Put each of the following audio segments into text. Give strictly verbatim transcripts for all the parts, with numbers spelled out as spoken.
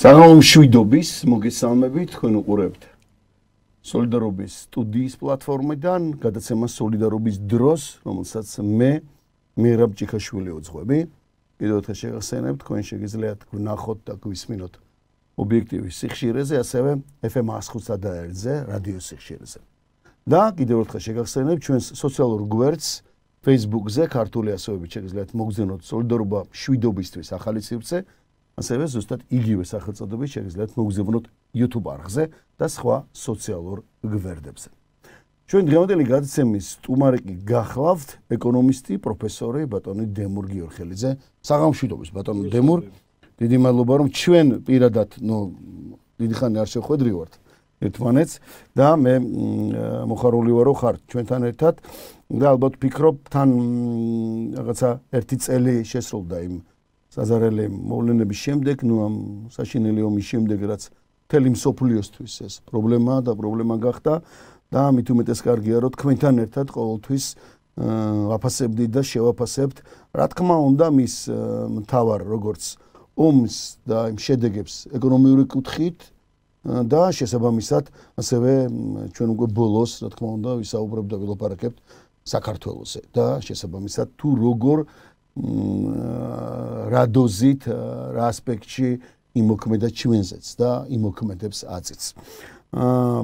საღამომშვიდობის მოგესალმებით, თქვენ უყურებთ სოლიდარობის სტუდიის პლატფორმიდან გადაცემას სოლიდარობის დროს, რომელსაც მე მირაბ ჭიქაშვილი უძღვები. კიდევ ერთხელ შეგახსენებთ, თქვენ შეგიძლიათ ვნახოთ და გვისმინოთ ობიექტივის სიხშირეზე, ასევე ეფ ემ ას ხუთსა და ერთზე, რადიო სიხშირეზე. და კიდევ ერთხელ შეგახსენებთ, ჩვენს სოციალურ გვერდს Facebook-ზე ქართული ასოებით შეგიძლიათ მოგზავნოთ სოლიდარობა მშვიდობისთვის ახალი სივრცე. ასევე ზუსტად იგივე სახელწოდებით შეგიძლიათ მოგზავნოთ YouTube არხზე და სხვა სოციალურ გვერდებზე. ჩვენ დღევანდელი გადაცემის სტუმარი გახლავთ ეკონომისტი, პროფესორი ბატონი დემურ გიორხელიძე. საღამომშვიდობის ბატონო დემურ. დიდი მადლობა რომ ჩვენ პირადად, ნუ დიდი ხანი არ შევხვედრივართ ერთმანეთს და მე მოხარული ვარო ხარ ჩვენთან ერთად და ალბათ ვფიქრობ თან რაღაცა ერთი წელი შესრულდა იმ საზარელი მოვლენების შემდეგ, ნუ ამ საშინელი ომის შემდეგ, რაც მთელი მსოფლიოსთვის ეს პრობლემა და პრობლემა გახდა და მით უმეტეს კარგია, რომ თქვენთან ერთად ყოველთვის ვაფასებდით და შევაფასებთ, რა თქმა უნდა, მის მთავარ როგორც ომს და იმ შედეგებს ეკონომიური კუთხით და შესაბამისად, ასევე ჩვენ უკვე ბოლოს, რა თქმა უნდა, ვისაუბრებთ და ვილაპარაკებთ საქართველოზე და შესაბამისად თუ როგორ რა დოზით, რა ასპექტში იმოქმედა ჩვენზეც და იმოქმედებს აწიც.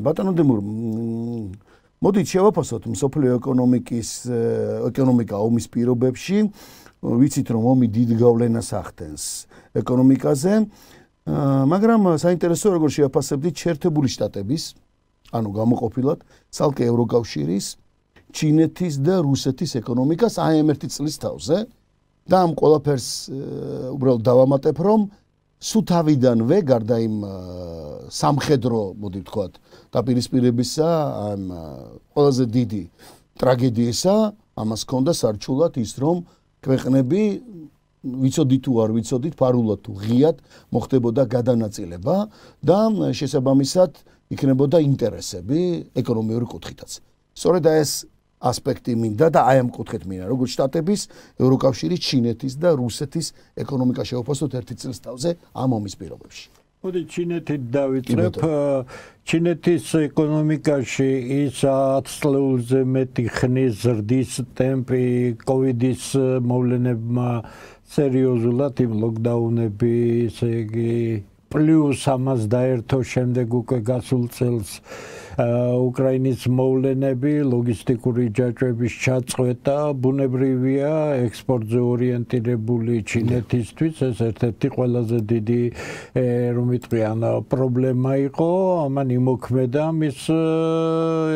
ბატონო დემურ, მოდით შევაფასოთ მსოფლიო ეკონომიკის ეკონომიკა ომის პირობებში, ვიცით რომ ომი დიდ გავლენას ახდენს ეკონომიკაზე, მაგრამ საინტერესოა როგორ შევაფასებდით შეერთებული შტატების, ანუ გამოყოფილად ცალკე ევროკავშირის, ჩინეთის და რუსეთის ეკონომიკას აი ამ ერთი წლის თავზე. და ამ ყველაფერს უბრალოდ დავამატებ, რომ სულ თავიდანვე გარდა იმ სამხედრო, მოდი ვთქვათ, დაპირისპირებისა, ამ ყველაზე დიდი ტრაგედიისა, ამას ჰქონდა სარჩულად ის, რომ ქვეყნები ვიცოდით თუ არ ვიცოდით, ფარულად თუ ღიად მოხდებოდა გადანაწილება და შესაბამისად იქნებოდა ინტერესები ეკონომიური კუთხითაც. სწორედ ეს ასპექტი მინდა და აი ამ კუთხით მინდა, როგორც შტატების, ევროკავშირის, ჩინეთის და რუსეთის ეკონომიკა შევაფასოთ ერთი წლის თავზე ამ ომის პირობებში. მოდი ჩინეთით დავიწყებ. ჩინეთის ეკონომიკაში ის ათს წლებზე მეტი ხნის ზრდის ტემპი კოვიდის მოვლენებმა სერიოზულად იმ ლოკდაუნები, ესე იგი პლუს ამას დაერთო შემდეგ უკვე გასულ წელს უკრაინის მოვლენები, ლოგისტიკური ჯაჭვების ჩაწყვეტა, ბუნებრივია ექსპორტზე ორიენტირებული ჩინეთისთვის ეს ერთ-ერთი ყველაზე დიდი რომ ვიტყვიან პრობლემა იყო, ამან იმოქმედა მის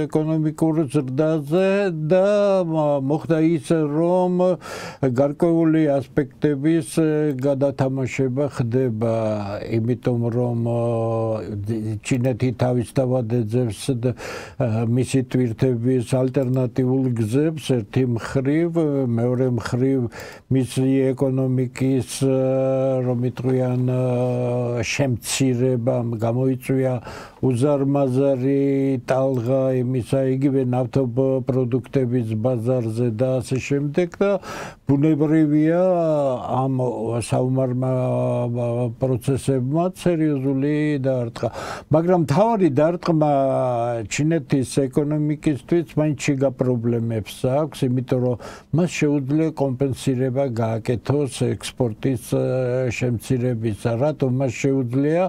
ეკონომიკურ ზრდაზე და მოხდა ის, რომ გარკვეული ასპექტების გადათამაშება ხდება, იმიტომ რომ ჩინეთი თავისთავად ეძებს მისი თვირთების ალტერნატიულ გზებს ერთი მხრივ, მეორე მხრივ მისი ეკონომიკის რომ ვიტყვიან შემცირება გამოიწვია უზარმაზარი ტალღა იმისა იგივე ნავთობპროდუქტების ბაზარზე და ასე შემდეგ და ბუნებრივია ამ საომარმა პროცესებმა სერიოზული დაარტყა. მაგრამ თავარი დაარტყმა ჩინეთის ეკონომიკისთვის მაინც შიგა პრობლემებს აქვს, იმიტომ რომ მას შეუძლია კომპენსირება გააკეთოს ექსპორტის შემცირებისა. რატომ მას შეუძლია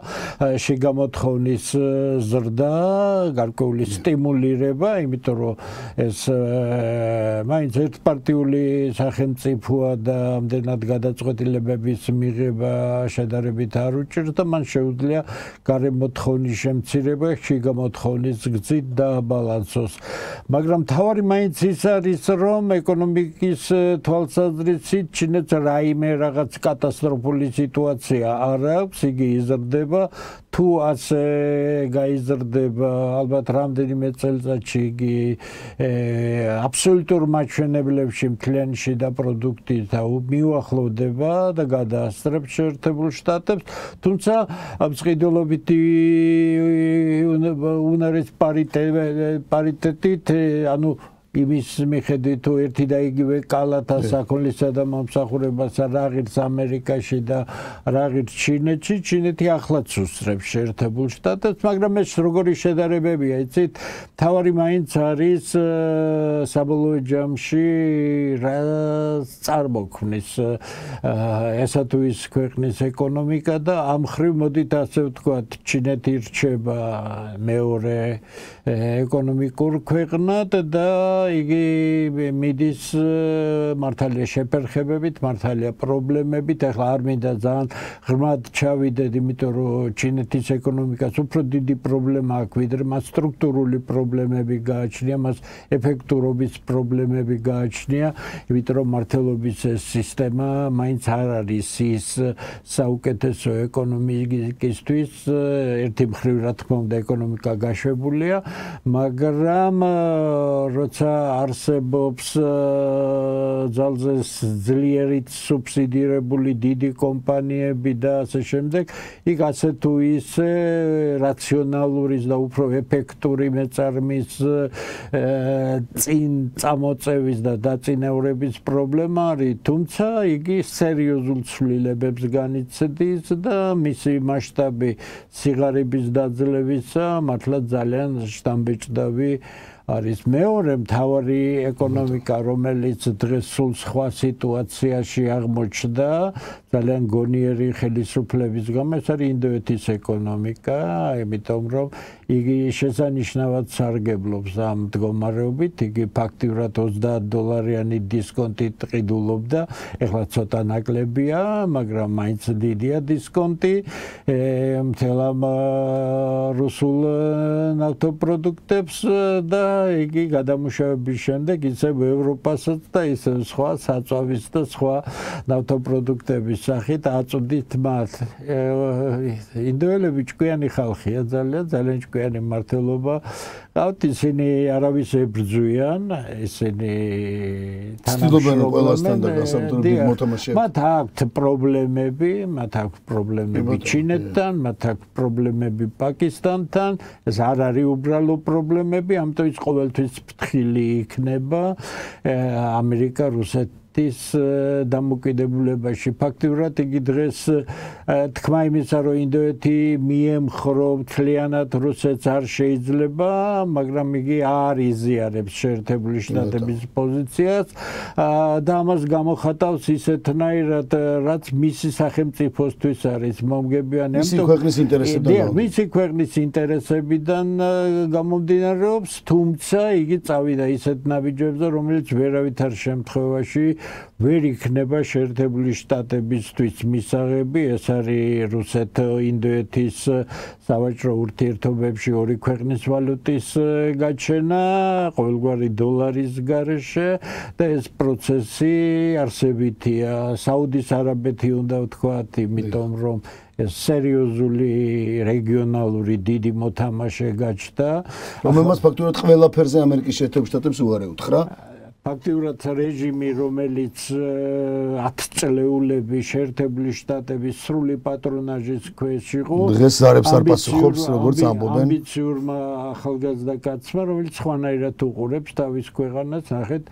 შეგამოთხოვნის ზრდა, გარკვეული სტიმულირება, იმიტომ რომ ეს მაინც ერთპარტიული სახელმწიფოა და ამდენად გადაწყვეტილებების მიღება შედარებით არ უჭირს და მან შეუძლია გარემოთხოვნის შემცირება, შიგამოთხოვნის რის გზით დააბალანსოს. მაგრამ თავარი მაინც ის არის, რომ ეკონომიკის თვალსაზრისით ჩინეთს რაიმე რაღაც კატასტროფული სიტუაცია არ აქვს, იგი იზრდება, თუ ასე გაიზრდება, ალბათ რამდენიმე წელიწადში იგი აბსოლუტურ მაჩვენებლებში მთლიანი შიდა პროდუქტით მიუახლოვდება და გადაასწრებს შეერთებულ შტატებს, თუმცა მსყიდველობითი უნარის პარიტეტით, ანუ იმის მიხედვით თუ ერთი და იგივე კალათა საქონლისა და მომსახურებასა რა ღირს ამერიკაში და რა ღირს ჩინეთში, ჩინეთი ახლაც უსწრებს შეერთებულ შტატებს, მაგრამ ეს როგორი შედარებებია, იცით, თავარი მაინც არის საბოლოო ჯამში რა წარმოქმნის ესა თუ ის ქვეყნის ეკონომიკა და ამ ხრივ მოდით ასე ვთქვათ, ჩინეთი რჩება მეორე ეკონომიკურ ქვეყნად და იგი მიდის მართალია შეფერხებებით, მართალია პრობლემებით, ახლა არ მინდა ძალიან ღრმად ჩავიდეთ, იმიტომ რომ ჩინეთის ეკონომიკას უფრო დიდი პრობლემა აქვს, ვიდრე მას სტრუქტურული პრობლემები გააჩნია, მას ეფექტურობის პრობლემები გააჩნია, იმიტომ რომ მართლობის ეს სისტემა მაინც არ არის ის საუკეთესო ეკონომიკისთვის, ერთი მხრივ რა თქმა უნდა ეკონომიკა გაშვებულია, მაგრამ როცა არსებობს ძალზე ძლიერი სუბსიდირებული დიდი კომპანიები და ასე შემდეგ, იქ ასე თუ ისე რაციონალური და უფრო ეფექტური მეწარმის წინ წამოწევის და დაწინაურების პრობლემა არის, თუმცა იგი სერიოზულ ცვლილებებს განიცდის და მისი მასშტაბი სიღარიბის დაძლევისა მართლა ძალიან შთამბეჭდავი არის. მეორე მთავარი ეკონომიკა, რომელიც დღეს სულ სხვა სიტუაციაში აღმოჩნდა, ძალიან გონიერი ხელისუფლების გამო, ეს არის ინდოეთის ეკონომიკა, იმიტომ რომ იგი შესანიშნავად სარგებლობს ამ მდგომარეობით, იგი ფაქტიურად ოცდაათ დოლარიანი დისკონტით ყიდულობდა, ეხლა ცოტა ნაკლებია, მაგრამ მაინც დიდია დისკონტი, მთელ ამ რუსულ ნავთობპროდუქტებს და იგი გადამუშავების შემდეგ ისევ ევროპასაც და ისევ სხვა საწვავის და სხვა ნავთობპროდუქტების სახით აწვდით მათ. ინდოელები ჭკვიანი ხალხია, ძალიან ძალიან ჭკვიანი მართლობა. ყავთ, ისინი არავის ებრძვიან, ისინი თანამშრომლობენ ყველასთან და გასაბჭოებით მოთამაშეებს. მათ აქვთ პრობლემები, მათ აქვთ პრობლემები ჩინეთთან, მათ აქვთ პრობლემები პაკისტანთან, ეს არ არის უბრალო პრობლემები, ამიტომ ის ყოველთვის ფრთხილი იქნება ამერიკა, რუსეთი ის დამოკიდებულებაში. ფაქტიურად იგი დღეს თქმა იმისა, რომ ინდოეთი მიემხრო მთლიანად რუსეთს არ შეიძლება, მაგრამ იგი არ იზიარებს შეერთებული შტატების პოზიციას და ამას გამოხატავს ისეთნაირად, რაც მისი სახელმწიფოსთვის არის მომგებიანი. მისი ქვეყნის ინტერესებიდან. მისი ქვეყნის ინტერესებიდან გამომდინარეობს, თუმცა იგი წავიდა ისეთ ნაბიჯებზე, რომელიც ვერავითარ შემთხვევაში ვერ იქნება შეერთებული შტატებისთვის მისაღები, ეს არის რუსეთ-ინდოეთის სავაჭრო ურთიერთობებში ორი ქვეყნის ვალუტის გაჩენა, ყოველგვარი დოლარის გარეშე და ეს პროცესი არსებითია. საუდის არაბეთი უნდა ვთქვათ, იმიტომ რომ ეს სერიოზული რეგიონალური დიდი მოთამაშე გაჩნდა, რომელმაც ფაქტურად ყველაფერზე ამერიკის შეერთებულ შტატებს უარი უთხრა. ფაქტიურად რეჟიმი, რომელიც ათწლეულები შეერთებული შტატების სრული პატრონაჟის ქვეშ იყო, დღეს ზარებს არ პასუხობს, როგორც ამბობენ. ამბიციურმა ახალგაზრდა კაცმა, რომელიც სხვანაირად უყურებს თავის ქვეყანას, ნახეთ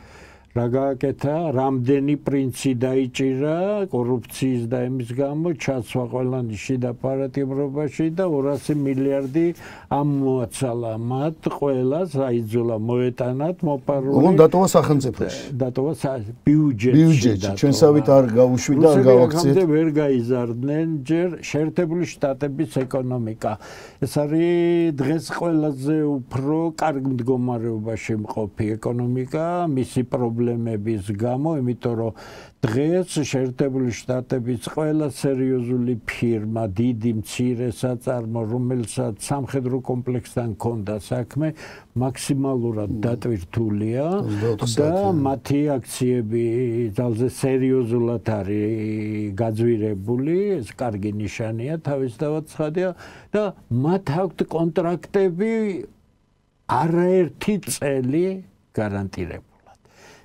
რა გააკეთა, რამდენი პრინცი დაიჭირა კორუფციის და იმის გამო, ჩაცვა ყველანი შიდა პარატიმრობაში და ორასი მილიარდი ამოაცალა მათ ყველას, აიძულა მოეტანათ მოპარული. ოღონდ დატოვა სახელმწიფოში. დატოვა ბიუჯეტში. ბიუჯეტში. ჩვენსავით არ გავუშვიდა, არ გავაქციეთ. რუსები ვერ გაიზარდნენ ჯერ შეერთებული შტატების ეკონომიკა. ეს არის დღეს ყველაზე უფრო კარგ მდგომარეობაში მყოფი ეკონომიკა, მისი პრობლემა პრობლემების გამო, იმიტომ რომ დღეს შეერთებული შტატების ყველა სერიოზული ფირმა, დიდი მცირე საწარმო, რომელსაც სამხედრო კომპლექსთან ჰქონდა საქმე, მაქსიმალურად დატვირთულია და მათი აქციები ძალზე სერიოზულად არის გაძვირებული, ეს კარგი ნიშანია, თავისთავად ცხადია და მათ აქვთ კონტრაქტები არაერთი წელი გარანტირებული.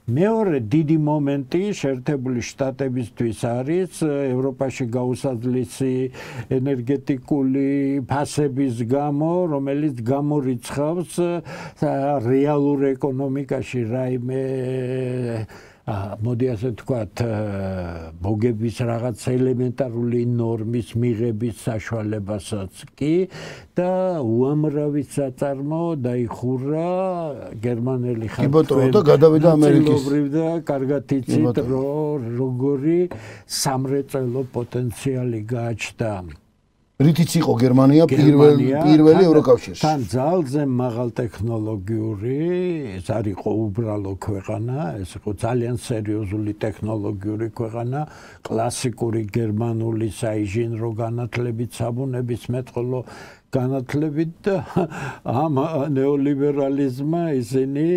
მეორე დიდი მომენტი შეერთებული შტატებისთვის არის ევროპაში გაუსაძლისი ენერგეტიკული ფასების გამო, რომელიც გამორიცხავს რეალურ ეკონომიკაში რაიმე მოდი ასე ვთქვათ, მოგების რაღაც ელემენტარული ნორმის მიღების საშუალებასაც კი და უამრავი საწარმო დაიხურა გერმანელი ხალხი და გადავიდა ამერიკის. და კარგად იცით, რომ როგორი სამრეწველო პოტენციალი გააჩნდა. რითიც იყო გერმანია პირველი პირველი ევროკავშირში. თან ძალზე მაღალ ტექნოლოგიური, ეს არ იყო უბრალო ქვეყანა, ეს იყო ძალიან სერიოზული ტექნოლოგიური ქვეყანა, კლასიკური გერმანული საინჟინრო განათლებით, საბუნების მეტყველო განათლებით და ამ ნეოლიბერალიზმმა ისინი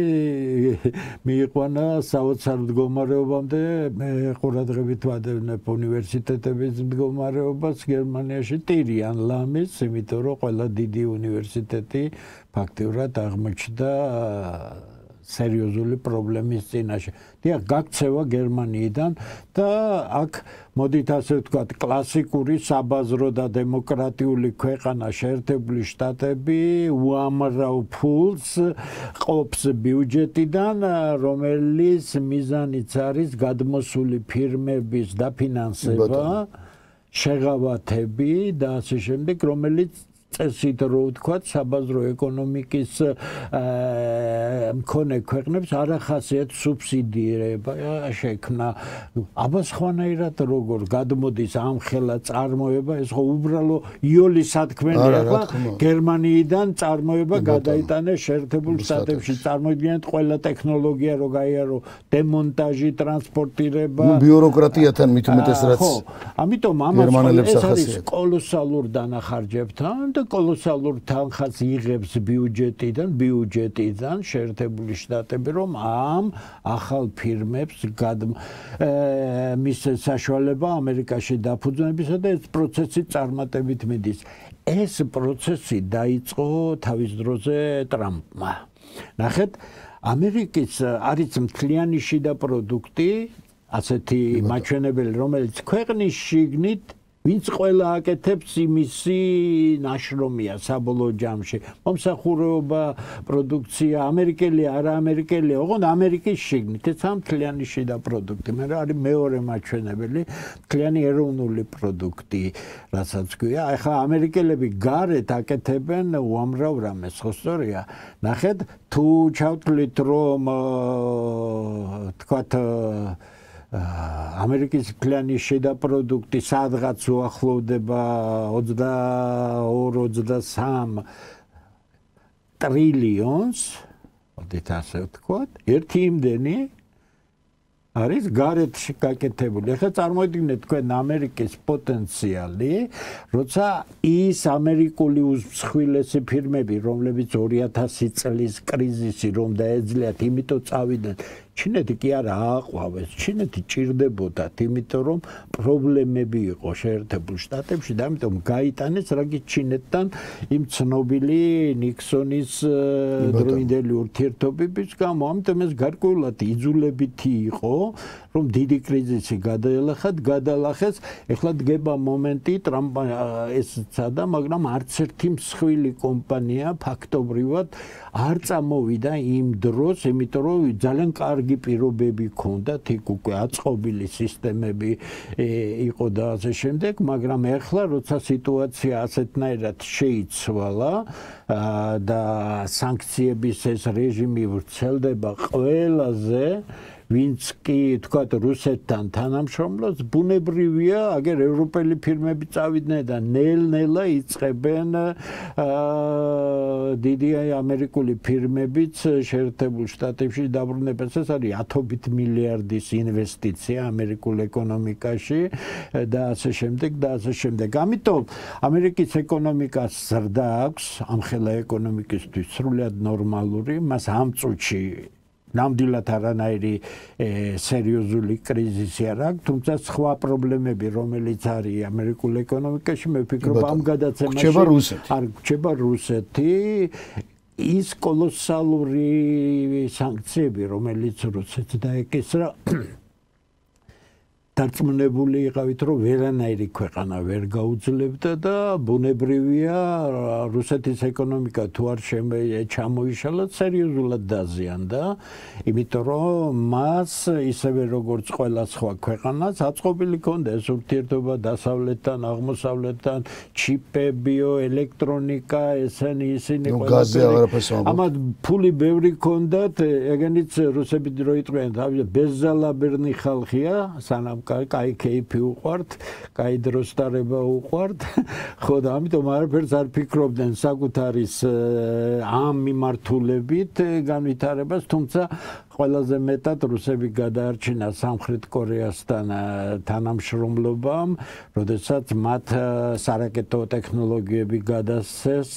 მიიყვანა საოცარ მდგომარეობამდე. მე ყურადღებით ვადევნებ უნივერსიტეტების მდგომარეობას გერმანიაში ტირიან ლამის, იმიტომ რომ ყველა დიდი უნივერსიტეტი ფაქტიურად აღმოჩნდა სერიოზული პრობლემის წინაშე. დიახ, გაქცევა გერმანიიდან და აქ მოდით ასე ვთქვათ, კლასიკური საბაზრო და დემოკრატიული ქვეყანა შეერთებული შტატები უამრავ ფულს ყოფს ბიუჯეტიდან, რომელიც მიზანიც არის გადმოსული ფირმების დაფინანსება, შეღავათები და ასე შემდეგ, რომელიც წესით რო ვთქვათ, საბაზრო ეკონომიკის მქონე ქვეყნებს არ ახასიათ სუბსიდირება შექმნა. აბა სხვანაირად როგორ გადმოდის ამხელა წარმოება, ეს ხო უბრალო იოლი სათქმელია, ახლა გერმანიიდან წარმოება გადაიტანეს შეერთებულ შტატებში. წარმოიდგინეთ, ყველა ტექნოლოგია რო გაიარო, დემონტაჟი, ტრანსპორტირება, ბიუროკრატიათან მით უმეტეს რაც. ხო, ამიტომ ამას ეს არის კოლოსალურ დანახარჯებთან და კოლოსალურ თანხას იღებს ბიუჯეტიდან, ბიუჯეტიდან შეერთებული შტატები, რომ ამ ახალ ფირმებს მისცეს საშუალება ამერიკაში დაფუძნებისა და ეს პროცესი წარმატებით მიდის. ეს პროცესი დაიწყო თავის დროზე ტრამპმა. ნახეთ, ამერიკის არის მთლიანი შიდა პროდუქტი, ასეთი მაჩვენებელი, რომელიც ქვეყნის შიგნით ვინც ყველა აკეთებს იმისი ნაშრომია საბოლოო ჯამში. მომსახურება, პროდუქცია, ამერიკელი, არა ამერიკელი, ოღონდ ამერიკის შიგნით, ეს მთლიანი შიდა პროდუქტი. მე არის მეორე მაჩვენებელი, მთლიანი ეროვნული პროდუქტი, რასაც ქვია. ახლა ამერიკელები გარეთ აკეთებენ უამრავ რამეს, ხო სწორია? ნახეთ, თუ ჩავთვლით, რომ თქვათ ამერიკის მთლიანი შიდა პროდუქტი სადღაც უახლოვდება ოცდაორ ოცდასამ ტრილიონს, მოდით ასე ვთქვათ, ერთი იმდენი არის გარეთ გაკეთებული. ახლა წარმოიდგინეთ თქვენ ამერიკის პოტენციალი, როცა ის ამერიკული უმსხვილესი ფირმები, რომლებიც ორი ათასი წლის კრიზისი რომ დაეძლიათ, იმიტომ წავიდნენ. ჩინეთი კი არა ააყვავეს, ჩინეთი ჭირდებოდათ, იმიტომ რომ პრობლემები იყო შეერთებულ შტატებში და ამიტომ გაიტანეს რაგი ჩინეთთან იმ ცნობილი ნიქსონის დროინდელი ურთიერთობების გამო. ამიტომ ეს გარკვეულად იძულებითი იყო, რომ დიდი კრიზისი გადაელახათ, გადალახეს. ეხლა დგება მომენტი, ტრამპმა ეს ცადა, მაგრამ არც ერთი მსხვილი კომპანია ფაქტობრივად არ წამოვიდა იმ დროს, იმიტომ რომ ძალიან კარგი პირობები ჰქონდათ, იქ უკვე აწყობილი სისტემები იყო და ასე შემდეგ, მაგრამ ეხლა როცა სიტუაცია ასეთნაირად შეიცვალა და სანქციების ეს რეჟიმი ვრცელდება ყველაზე ვინც კი თქვათ რუსეთთან თანამშრომლობს, ბუნებრივია, აგერ ევროპელი ფირმები წავიდნენ და ნელ-ნელა იწყებენ დიდი ამერიკული ფირმებიც შეერთებულ შტატებში დაბრუნებას. ეს არის ათობით მილიარდის ინვესტიცია ამერიკულ ეკონომიკაში და ასე შემდეგ და ასე შემდეგ. ამიტომ ამერიკის ეკონომიკას ზრდა აქვს, ამხელა ეკონომიკისთვის სრულად ნორმალური, მას ამ წუთში ნამდვილად არანაირი სერიოზული კრიზისი არ აქვს, თუმცა სხვა პრობლემები, რომელიც არის ამერიკულ ეკონომიკაში, მე ვფიქრობ ამ გადაცემაში არ გრჩება რუსეთი. ის კოლოსალური სანქციები, რომელიც რუსეთს დაეკისრა, დარწმუნებული იყავით, რომ ვერანაირი ქვეყანა ვერ გაუძლებდა და ბუნებრივია რუსეთის ეკონომიკა თუ არ ჩამოიშალა, სერიოზულად დაზიანდა, იმიტომ რომ მას ისევე როგორც ყველა სხვა ქვეყანას აწყობილი ჰქონდა ეს ურთიერთობა დასავლეთთან, აღმოსავლეთთან, ჩიპებიო, ელექტრონიკა, ესენი ისინი ყველაფერი. ამათ ფული ბევრი ჰქონდათ, ეგენიც რუსები რო იყვნენ, ბეზალაბერნი ხალხია, სანამ კაი კეიფი უყვართ, კაი დროს დარება უყვართ, ხო და ამიტომ არაფერს არ ფიქრობდნენ საკუთარის ამ მიმართულებით განვითარებას, თუმცა ყველაზე მეტად რუსები გადაარჩინა სამხრეთ კორეასთან თანამშრომლობამ, როდესაც მათ სარაკეტო ტექნოლოგიები გადასცეს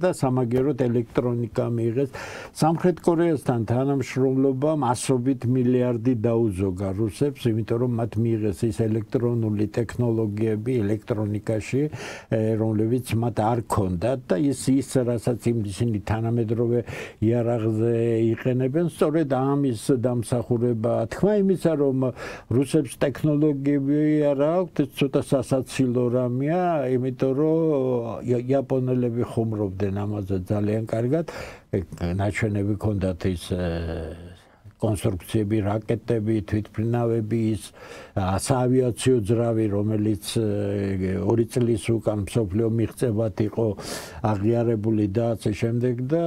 და სამაგიეროდ ელექტრონიკა მიიღეს. სამხრეთ კორეასთან თანამშრომლობამ ასობით მილიარდი დაუზოგა რუსებს, იმიტომ რომ მათ მიიღეს ის ელექტრონული ტექნოლოგიები ელექტრონიკაში, რომლებიც მათ არ ჰქონდათ და ის ის რასაც ისინი თანამედროვე იარაღზე იყენებენ, სწორედ ამის დამსახურება. თქმა იმისა, რომ რუსებს ტექნოლოგიები არ აქვთ, ცოტა სასაცილო რამეა, იმიტომ რომ იაპონელები ხუმრობდნენ ამაზე ძალიან კარგად, ნაჩვენები ჰქონდათ ის კონსტრუქციები, რაკეტები, თვითმფრინავები, ის საავიაციო ძრავი, რომელიც ორი წლის უკან მსოფლიო მიღწევად იყო აღიარებული და ასე შემდეგ და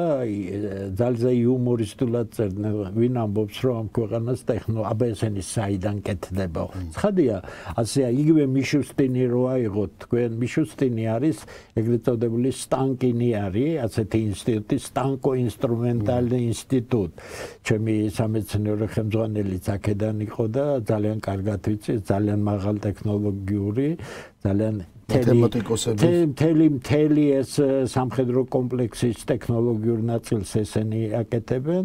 ძალზე იუმორისტულად წერდნენ, ვინ ამბობს, რომ ამ ქვეყანას ტექნოლოგია, აბა ესენი საიდან კეთდება. ცხადია, ასე იგივე მიშუსტინი რო აიღოთ, თქვენ მიშუსტინი არის ეგრეთ წოდებული სტანკინი არის, ასეთი ინსტიტუტი, სტანკო ინსტრუმენტალი ინსტიტუტ. ჩემი სამეცნიერო ხელმძღვანელიც აქედან იყო და ძალიან კარგად ვიცი, ძალიან მაღალ ტექნოლოგიური, ძალიან მთელი მთელი ეს სამხედრო კომპლექსის ტექნოლოგიურ ნაწილს ესენი აკეთებენ,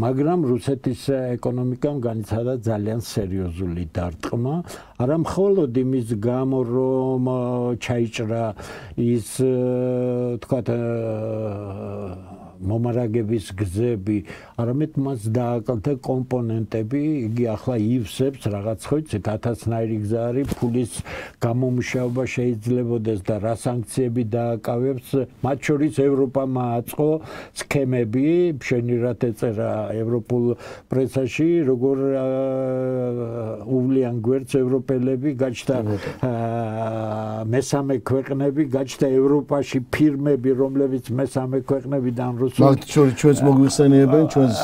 მაგრამ რუსეთის ეკონომიკამ განიცადა ძალიან სერიოზული დარტყმა, არა მხოლოდ იმის გამო, რომ ჩაიჭრა ის თქვათ მომარაგების გზები, არამედ მას დააკლდა კომპონენტები, იგი ახლა ივსებს რაღაც ხო იცით, ათასნაირი გზა არის, ფულის გამომუშავება შეიძლებოდეს და რა სანქციები დააკავებს, მათ შორის ევროპამ აწყო სქემები, შენირად ეწერა ევროპულ პრესაში, როგორ უვლიან გვერდს ევროპელები, გაჩნდა მესამე ქვეყნები, გაჩნდა ევროპაში ფირმები, რომლებიც მესამე ქვეყნებიდან მათ შორის ჩვენს მოგვიხსენიებენ, ჩვენს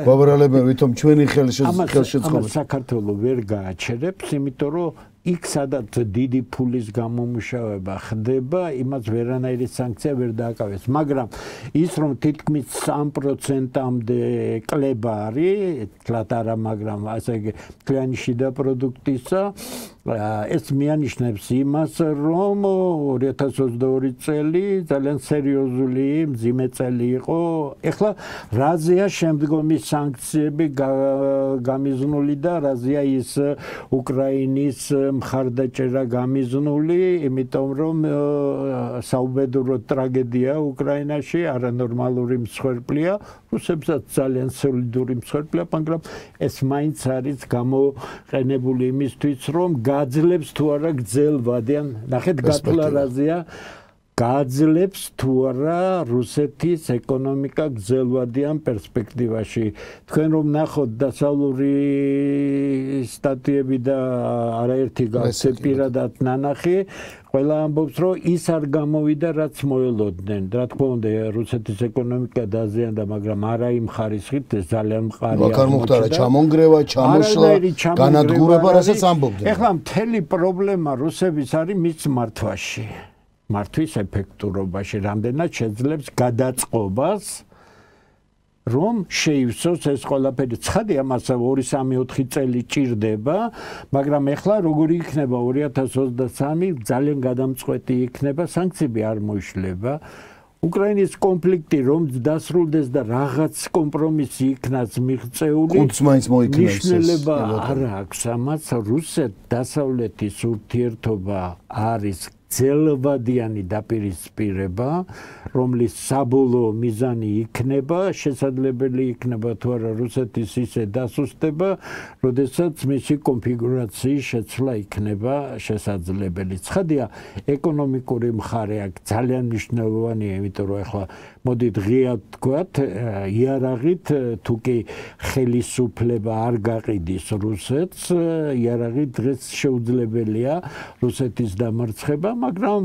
გვაბრალებენ, ვითომ ჩვენი ხელშეწყობა. ამას საქართველოს ვერ გააჩერებს, იმიტომ რომ იქ სადაც დიდი ფულის გამომუშავება ხდება, იმას ვერანაირი სანქცია ვერ დააკავეს. მაგრამ ის რომ თითქმის სამ პროცენტამდე კლება არის, თლათ არა, მაგრამ ასე კლიანი შიდა პროდუქტისა, ეს მიანიშნებს იმას, რომ ორი ათას ოცდაორი წელი ძალიან სერიოზული მძიმე წელი იყო. ეხლა რაზეა შემდგომი სანქციები გამიზნული და რაზეა ის უკრაინის მხარდაჭერა გამიზნული, იმიტომ რომ საუბედურო ტრაგედია უკრაინაში, არანორმალური მსხვერპლია, რუსებსაც ძალიან სოლიდური მსხვერპლია, მაგრამ ეს მაინც არის გამოყენებული იმისთვის, რომ გაძლებს თუ არა გძელ ვადიან, ნახეთ გათვლა რაზეა, გააძლევს თუ არა რუსეთის ეკონომიკა გრძელვადიან პერსპექტივაში. Თქვენ რომ ნახოთ დასავლური სტატიები და არაერთი გავცე პირადად ნანახი, ყველა ამბობს, რომ ის არ გამოვიდა, რაც მოელოდნენ. რა თქმა უნდა, რუსეთის ეკონომიკა დაზიანდა, მაგრამ არა იმ ხარისხით, ეს ძალიან მყარი აღმოჩნდა. აქ არ მოხდა რა ჩამონგრევა, ჩამოშლა, განადგურება, რასაც ამბობდნენ. ეხლა მთელი პრობლემა რუსების არის მის მართვაში. მართვის ეფექტურობაში, რამდენად შეძლებს გადაწყობას, რომ შეივსოს ეს ყველაფერი. ცხადია, მას ორი სამი ოთხი წელი ჭირდება, მაგრამ ეხლა როგორი იქნება ორი ათას ოცდასამი ძალიან გადამწყვეტი იქნება, სანქციები არ მოიშლება. უკრაინის კონფლიქტი რომ დასრულდეს და რაღაც კომპრომისი იქნას მიღწეული, კუდს მაინც მოიქნეს. ნიშნულება არ აქვს ამას. რუსეთ-დასავლეთის ურთიერთობა არის ძელვადიანი დაპირისპირება, რომლის საბოლოო მიზანი იქნება, შესაძლებელი იქნება თუ არა რუსეთის ისე დასუსტება, როდესაც მისი კონფიგურაციის შეცვლა იქნება შესაძლებელი. ცხადია, ეკონომიკური მხარე აქ ძალიან მნიშვნელოვანია, იმიტომ რომ ახლა მოდით ღიად თქვათ, იარაღით თუ კი ხელისუფლება არ გაყიდის რუსეთს, იარაღით დღეს შეუძლებელია რუსეთის დამარცხება, მაგრამ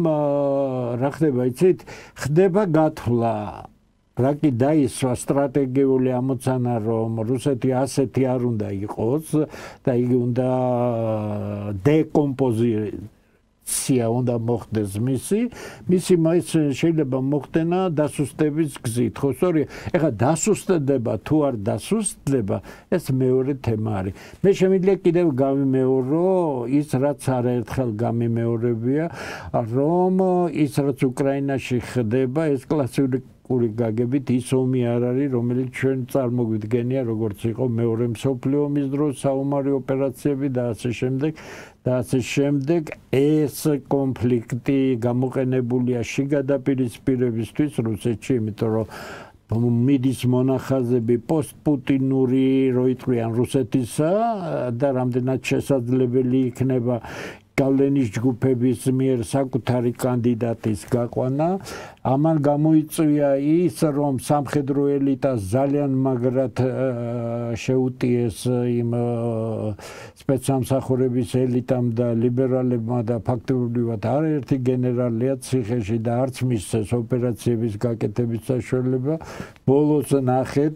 რა ხდება, იცით, ხდება გათვლა. რა კი დაისვა სტრატეგიული ამოცანა, რომ რუსეთი ასეთი არ უნდა იყოს და იგი უნდა დეკომპოზიცია უნდა მოხდეს მისი, მისი მას შეიძლება მოხდენა დასუსტების გზით. ხო, სწორია. ეხლა დასუსტდება თუ არ დასუსტდება, ეს მეორე თემა არის. მე შემიძლია კიდევ გავიმეორო ის, რაც არაერთხელ გამიმეორებია, რომ ის, რაც უკრაინაში ხდება, ეს კლასიკური გაგებით ის ომი არ არის, რომელიც ჩვენ წარმოგვიდგენია, როგორც იყო მეორე მსოფლიო ომის დროს საომარი ოპერაციები და ასე შემდეგ და ასე შემდეგ. ეს კონფლიქტი გამოყენებულია შიგადაპირისპირებისთვის რუსეთში, იმიტომ რომ მიდის მონახაზები პოსტპუტინური რო იტყვიან რუსეთისა და რამდენად შესაძლებელი იქნება გავლენის ჯგუფების მიერ საკუთარი კანდიდატის გაყვანა. ამან გამოიწვია ის, რომ სამხედრო ელიტას ძალიან მაგრად შეუტიეს იმ სპეცსამსახურების ელიტამ და ლიბერალებმა და ფაქტობრივად არაერთი გენერალია ციხეში და არც მისცეს ოპერაციების გაკეთების საშუალება. ბოლოს ნახეთ,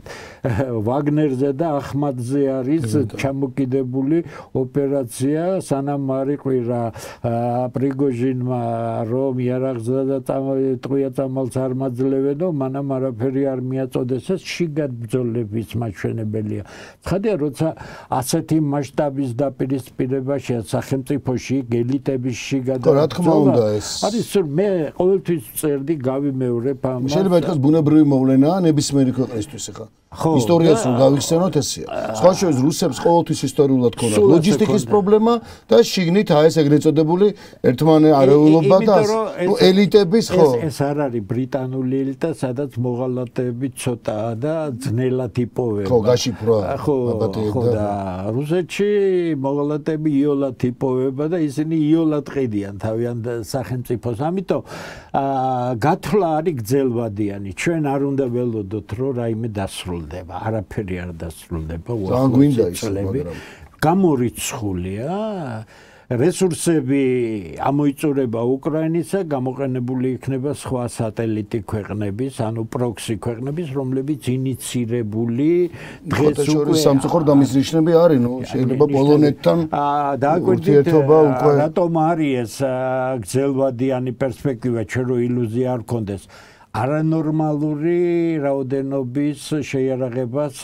ვაგნერზე და ახმადზე არის ჩამოკიდებული ოპერაცია, სანამ არ იყვირა პრიგოჟინმა რომ იარაღზე და ტყვია წამალს არ მაძლევენო, მანამ არაფერი არ მიაწოდეს, ეს შიგად ბრძოლების მაჩვენებელია. ცხადია, როცა ასეთი მასშტაბის დაპირისპირებაშია სახელმწიფოში ელიტების შიგად რა თქმა უნდა ეს არის, მე ყოველთვის წერდი გავიმეორებ ამას. შეიძლება ითქვას ბუნებრივი მოვლენაა ნებისმიერი ქვეყნისთვის ხა. ისტორიას რომ გავიხსენოთ ესეა. სხვა შორის რუსებს ყოველთვის ისტორიულად ქონდათ ლოჯისტიკის პრობლემა და შიგნით აი ეს ეგრეთ წოდებული ერთმანეთარეულობა და ნუ ელიტების ხო. ეს არ არის ბრიტანული ელიტა, სადაც მოღალატეები ცოტაა და ძნელად იპოვება. ხო, გაშიფრვა. ხო, ხო და რუსეთში მოღალატეები იოლად იპოვება და ისინი იოლად ყიდიან თავიანთ სახელმწიფოს. ამიტომ გათვლა არის გრძელვადიანი. ჩვენ არ უნდა ველოდოთ, რომ რაიმე დასრულდება. არაფერი არ დასრულდება. ძალიან გვინდა ის, მაგრამ გამორიცხულია. რესურსები ამოიწურება უკრაინისა, გამოყენებული იქნება სხვა სატელიტი ქვეყნების, ანუ პროქსი ქვეყნების, რომლებიც ინიცირებული დღეს უკვე სამწუხაროდ ამის ნიშნები არის, ნუ შეიძლება პოლონეთთან ურთიერთობა უკვე რატომ არის ეს გრძელვადიანი პერსპექტივა, ჩვენ რო ილუზია არ გქონდეს. არანორმალური რაოდენობის შეიარაღებას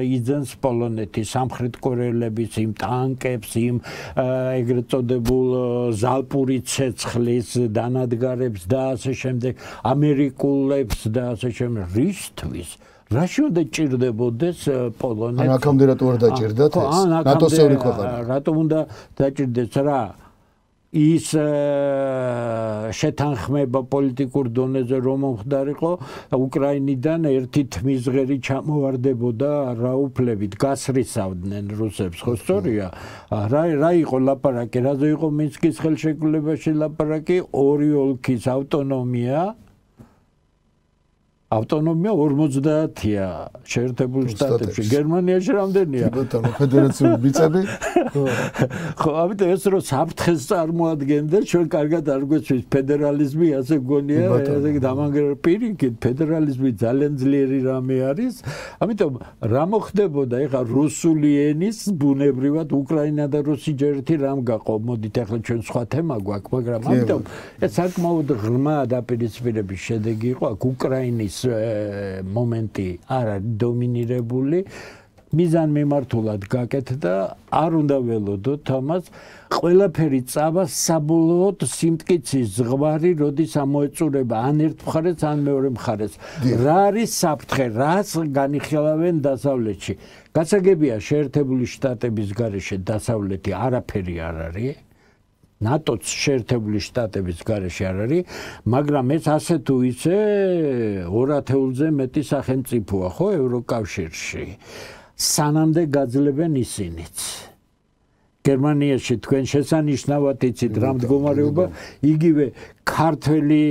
იძენს პოლონეთი სამხრეთ კორეელების იმ ტანკებს, იმ ეგრეთ წოდებულ ზალპური ცეცხლის დანადგარებს და ასე შემდეგ, ამერიკულებს და ასე შემდეგ. რისთვის? რაში უნდა ჭირდებოდეს პოლონეთი? ან აქამდე რატო არ დაჭირდათ ეს? ნატოს წევრი ქვეყანა. რატომ უნდა დაჭირდეს რა? ის შეთანხმება პოლიტიკურ დონეზე რომ მომხდარიყო უკრაინიდან ერთი თმისღერი ჩამოვარდებოდა რაუფლებით გასრისავდნენ რუსებს ხო სწორია რა რა იყო ლაპარაკი რაზე იყო მინსკის ხელშეკრულებაში ლაპარაკი ორი ოლქის ავტონომია ავტონომია ორმოცდაათია შეერთებული შტატებში გერმანიაში რამდენია ბატონო ფედერაციული მიწები ხო ამიტომ ეს რომ საფრთხეს წარმოადგენდა ჩვენ კარგად არ გვეცვის ფედერალიზმი ასე გონია ესე დამანგრევ პირიქით ფედერალიზმი ძალიან ძლიერი რამე არის ამიტომ რა მოხდებოდა ეხლა რუსული ენის ბუნებრივად უკრაინა და რუსი ჯერ ერთი რამ გაყო მოდით ეხლა ჩვენ სხვა თემა გვაქვს მაგრამ ამიტომ ეს საკმაოდ ღრმა დაპირისპირების შედეგი იყო აქ უკრაინის მომენტი არ არის დომინირებული მიზან მიმართულად გაკეთდა არ უნდა ველოდოთ ამას ყველაფერი წავა საბოლოოდ სიმტკიცის ზღვარი როდის ამოეწურება ან ერთ მხარეს ან მეორე მხარეს რა არის საფრთხე რას განიხილავენ დასავლეთში გასაგებია შეერთებული შტატების გარეშე დასავლეთი არაფერი არ არის ნატოც შეერთებული შტატების გარეშე არ არის, მაგრამ ეს ასე თუ ისე ორ ათეულზე მეტი სახელმწიფოა, ხო, ევროკავშირში. სანამდე გაძლებენ ისინიც. გერმანიაში თქვენ შესანიშნავად იცით რა მდგომარეობა, იგივე ქართველი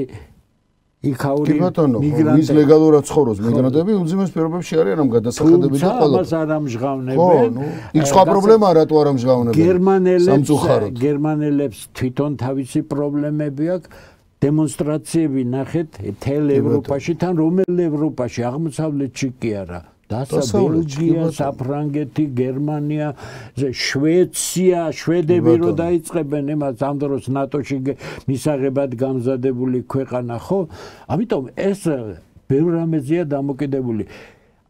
იქაური მიგრანტები, ის ლეგალურად ცხოვრობს მიგრანტები, უძიმეს პირობებში არიან ამ გადასახადები და ყველა. ამას არ ამჟღავნებენ. იქ სხვა პრობლემაა, რატო არ ამჟღავნებენ? გერმანელებს გერმანელებს თვითონ თავისი პრობლემები აქვს. დემონსტრაციები ნახეთ თელ ევროპაში, თან რომელ ევროპაში, აღმოსავლეთში კი არა. დასავლეთია, საფრანგეთი, გერმანია, შვეიცია, შვედები რო დაიწყებენ იმას ამ დროს ნატოში მისაღებად გამზადებული ქვეყანა, ხო? ამიტომ ეს ბევრ რამეზეა დამოკიდებული.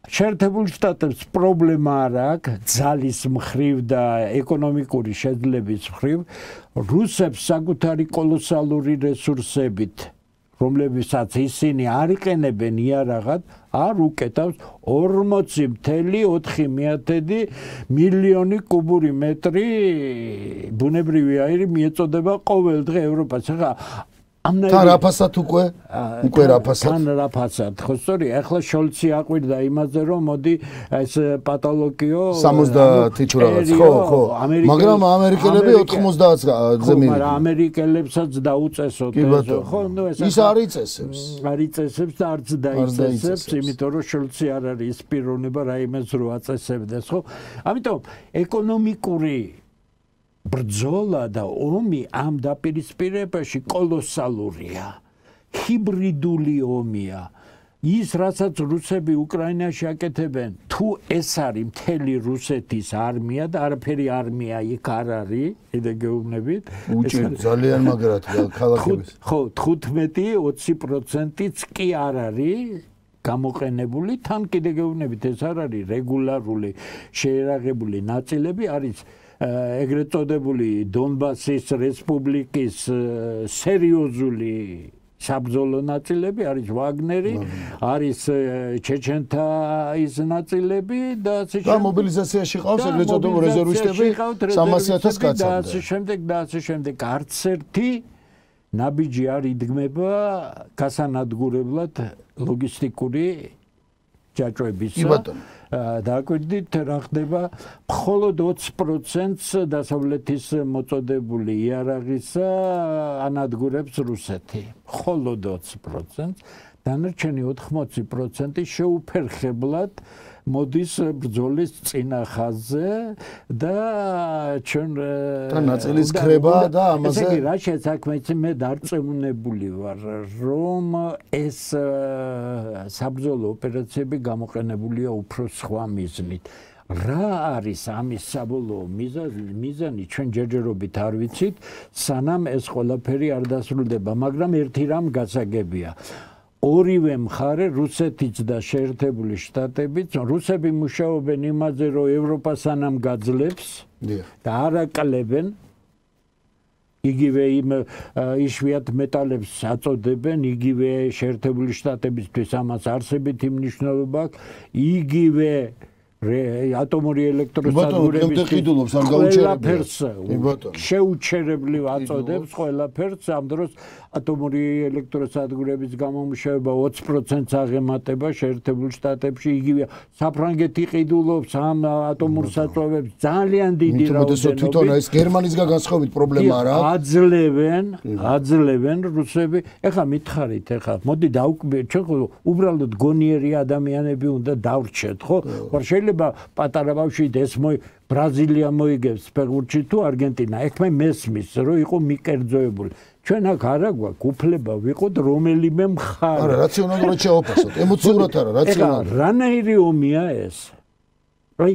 შეერთებული შტატებს პრობლემა არ აქვს ძალის მხრივ და ეკონომიკური შეძლების მხრივ, რუსებს საკუთარი კოლოსალური რესურსებით რომლებსაც ისინი არ იყენებენ იარაღად, არ უკეთავს ორმოცი წუთი ოთხი მილიონი კუბური მეტრი ბუნებრივი აირი მიეწოდება ყოველ დღე ევროპას. ახლა თან რაფასად უკვე უკვე რაფასად თან რაფასად ხო სწორია ახლა შოლცი აყვირდა იმაზე რომ მოდი ეს პათოლოგიო სამოცდაათი თუ რაღაც ხო ხო მაგრამ ამერიკელები ოთხმოცდაათზე მივიდნენ მაგრამ ამერიკელებსაც დაუწესოთ ხო ნუ ეს ის არ იწესებს არ იწესებს და არც დაიწესებს იმიტომ რომ შოლცი არ არის ის პიროვნება რაიმეს რო აწესებდეს ხო ამიტომ ეკონომიკური ბრძოლა და ომი ამ დაპირისპირებაში კოლოსალურია. ჰიბრიდული ომია. ის რასაც რუსები უკრაინაში აკეთებენ, თუ ეს არის მთელი რუსეთის არმია და არაფერი არმია იქ არ არის, კიდე გეუბნებით. უჭირ ძალიან მაგრად ქალაქების. ხო, თხუთმეტი ოცი პროცენტიც კი არ არის გამოყენებული, თან კიდე გეუბნებით ეს არ არის რეგულარული შეერაღებული ნაწილები არის ეგრეთ წოდებული დონბასის რესპუბლიკის სერიოზული საბრძოლო ნაწილები არის ვაგნერი, არის ჩეჩენთა ის ნაწილები და ასე შემდეგ. და მობილიზაციაში ყავს ეგრეთ წოდებული რეზერვისტები სამასი ათას კაცამდე. და ასე შემდეგ და ასე შემდეგ. არც ერთი ნაბიჯი არ იდგმება გასანადგურებლად ლოგისტიკური ჯაჭვებისა. კი ბატონო. დააკვირდით რა ხდება მხოლოდ ოცი პროცენტს დასავლეთის მოწოდებული იარაღისა ანადგურებს რუსეთი მხოლოდ ოცი პროცენტს დანარჩენი ოთხმოცი პროცენტი შეუფერხებლად მოდის ბრძოლის წინა ხაზზე და ჩვენ და ნაწილის ქრება და ამაზე ესე იგი რა შეცაქმეც მე დარწმუნებული ვარ რომ ეს საბრძოლო ოპერაციები გამოყენებულია უფრო სხვა მიზნით რა არის ამის საბოლოო მიზანი ჩვენ ჯერჯერობით არ ვიცით სანამ ეს ყველაფერი არ დასრულდება მაგრამ ერთი რამ გასაგებია ორივე მხარე რუსეთიც და შეერთებული შტატებიც რუსები მუშაობენ იმაზე რომ ევროპა სანამ გაძლებს და არ აკლებენ იგივე იმ იშვიათ მეტალებს აწოდებენ იგივე შეერთებული შტატებისთვის ამას არსებითი მნიშვნელობა აქვს იგივე ატომური ელექტროსადგურების ყველაფერს შეუჩერებლივ აწოდებს ყველაფერს ამ დროს ატომური ელექტროსადგურების გამომუშავება ოცი პროცენტს აღემატება შეერთებულ შტატებში იგივე საფრანგეთი ყიდულობს ამ ატომურ საწვევებს ძალიან დიდი რაოდენობით თვითონ ეს გერმანისგან განსხვავებით პრობლემა არა აძლევენ აძლევენ რუსები ეხლა მითხარით ეხლა მოდი დავკვირდეთ ჩვენ უბრალოდ გონიერი ადამიანები უნდა დავრჩეთ ხო შეიძლება პატარა ბავშვი ეს მოი ბრაზილია მოიგებს ფეხბურთში თუ არგენტინა ეგ მე მესმის რომ იყო მიკერძოებული ჩვენ აქ არა გვაქვს უფლება ვიყოთ რომელიმე მხარე არა რაციონალურად შევაფასოთ ემოციურად არა რაციონალურად რანაირი ომია ეს აი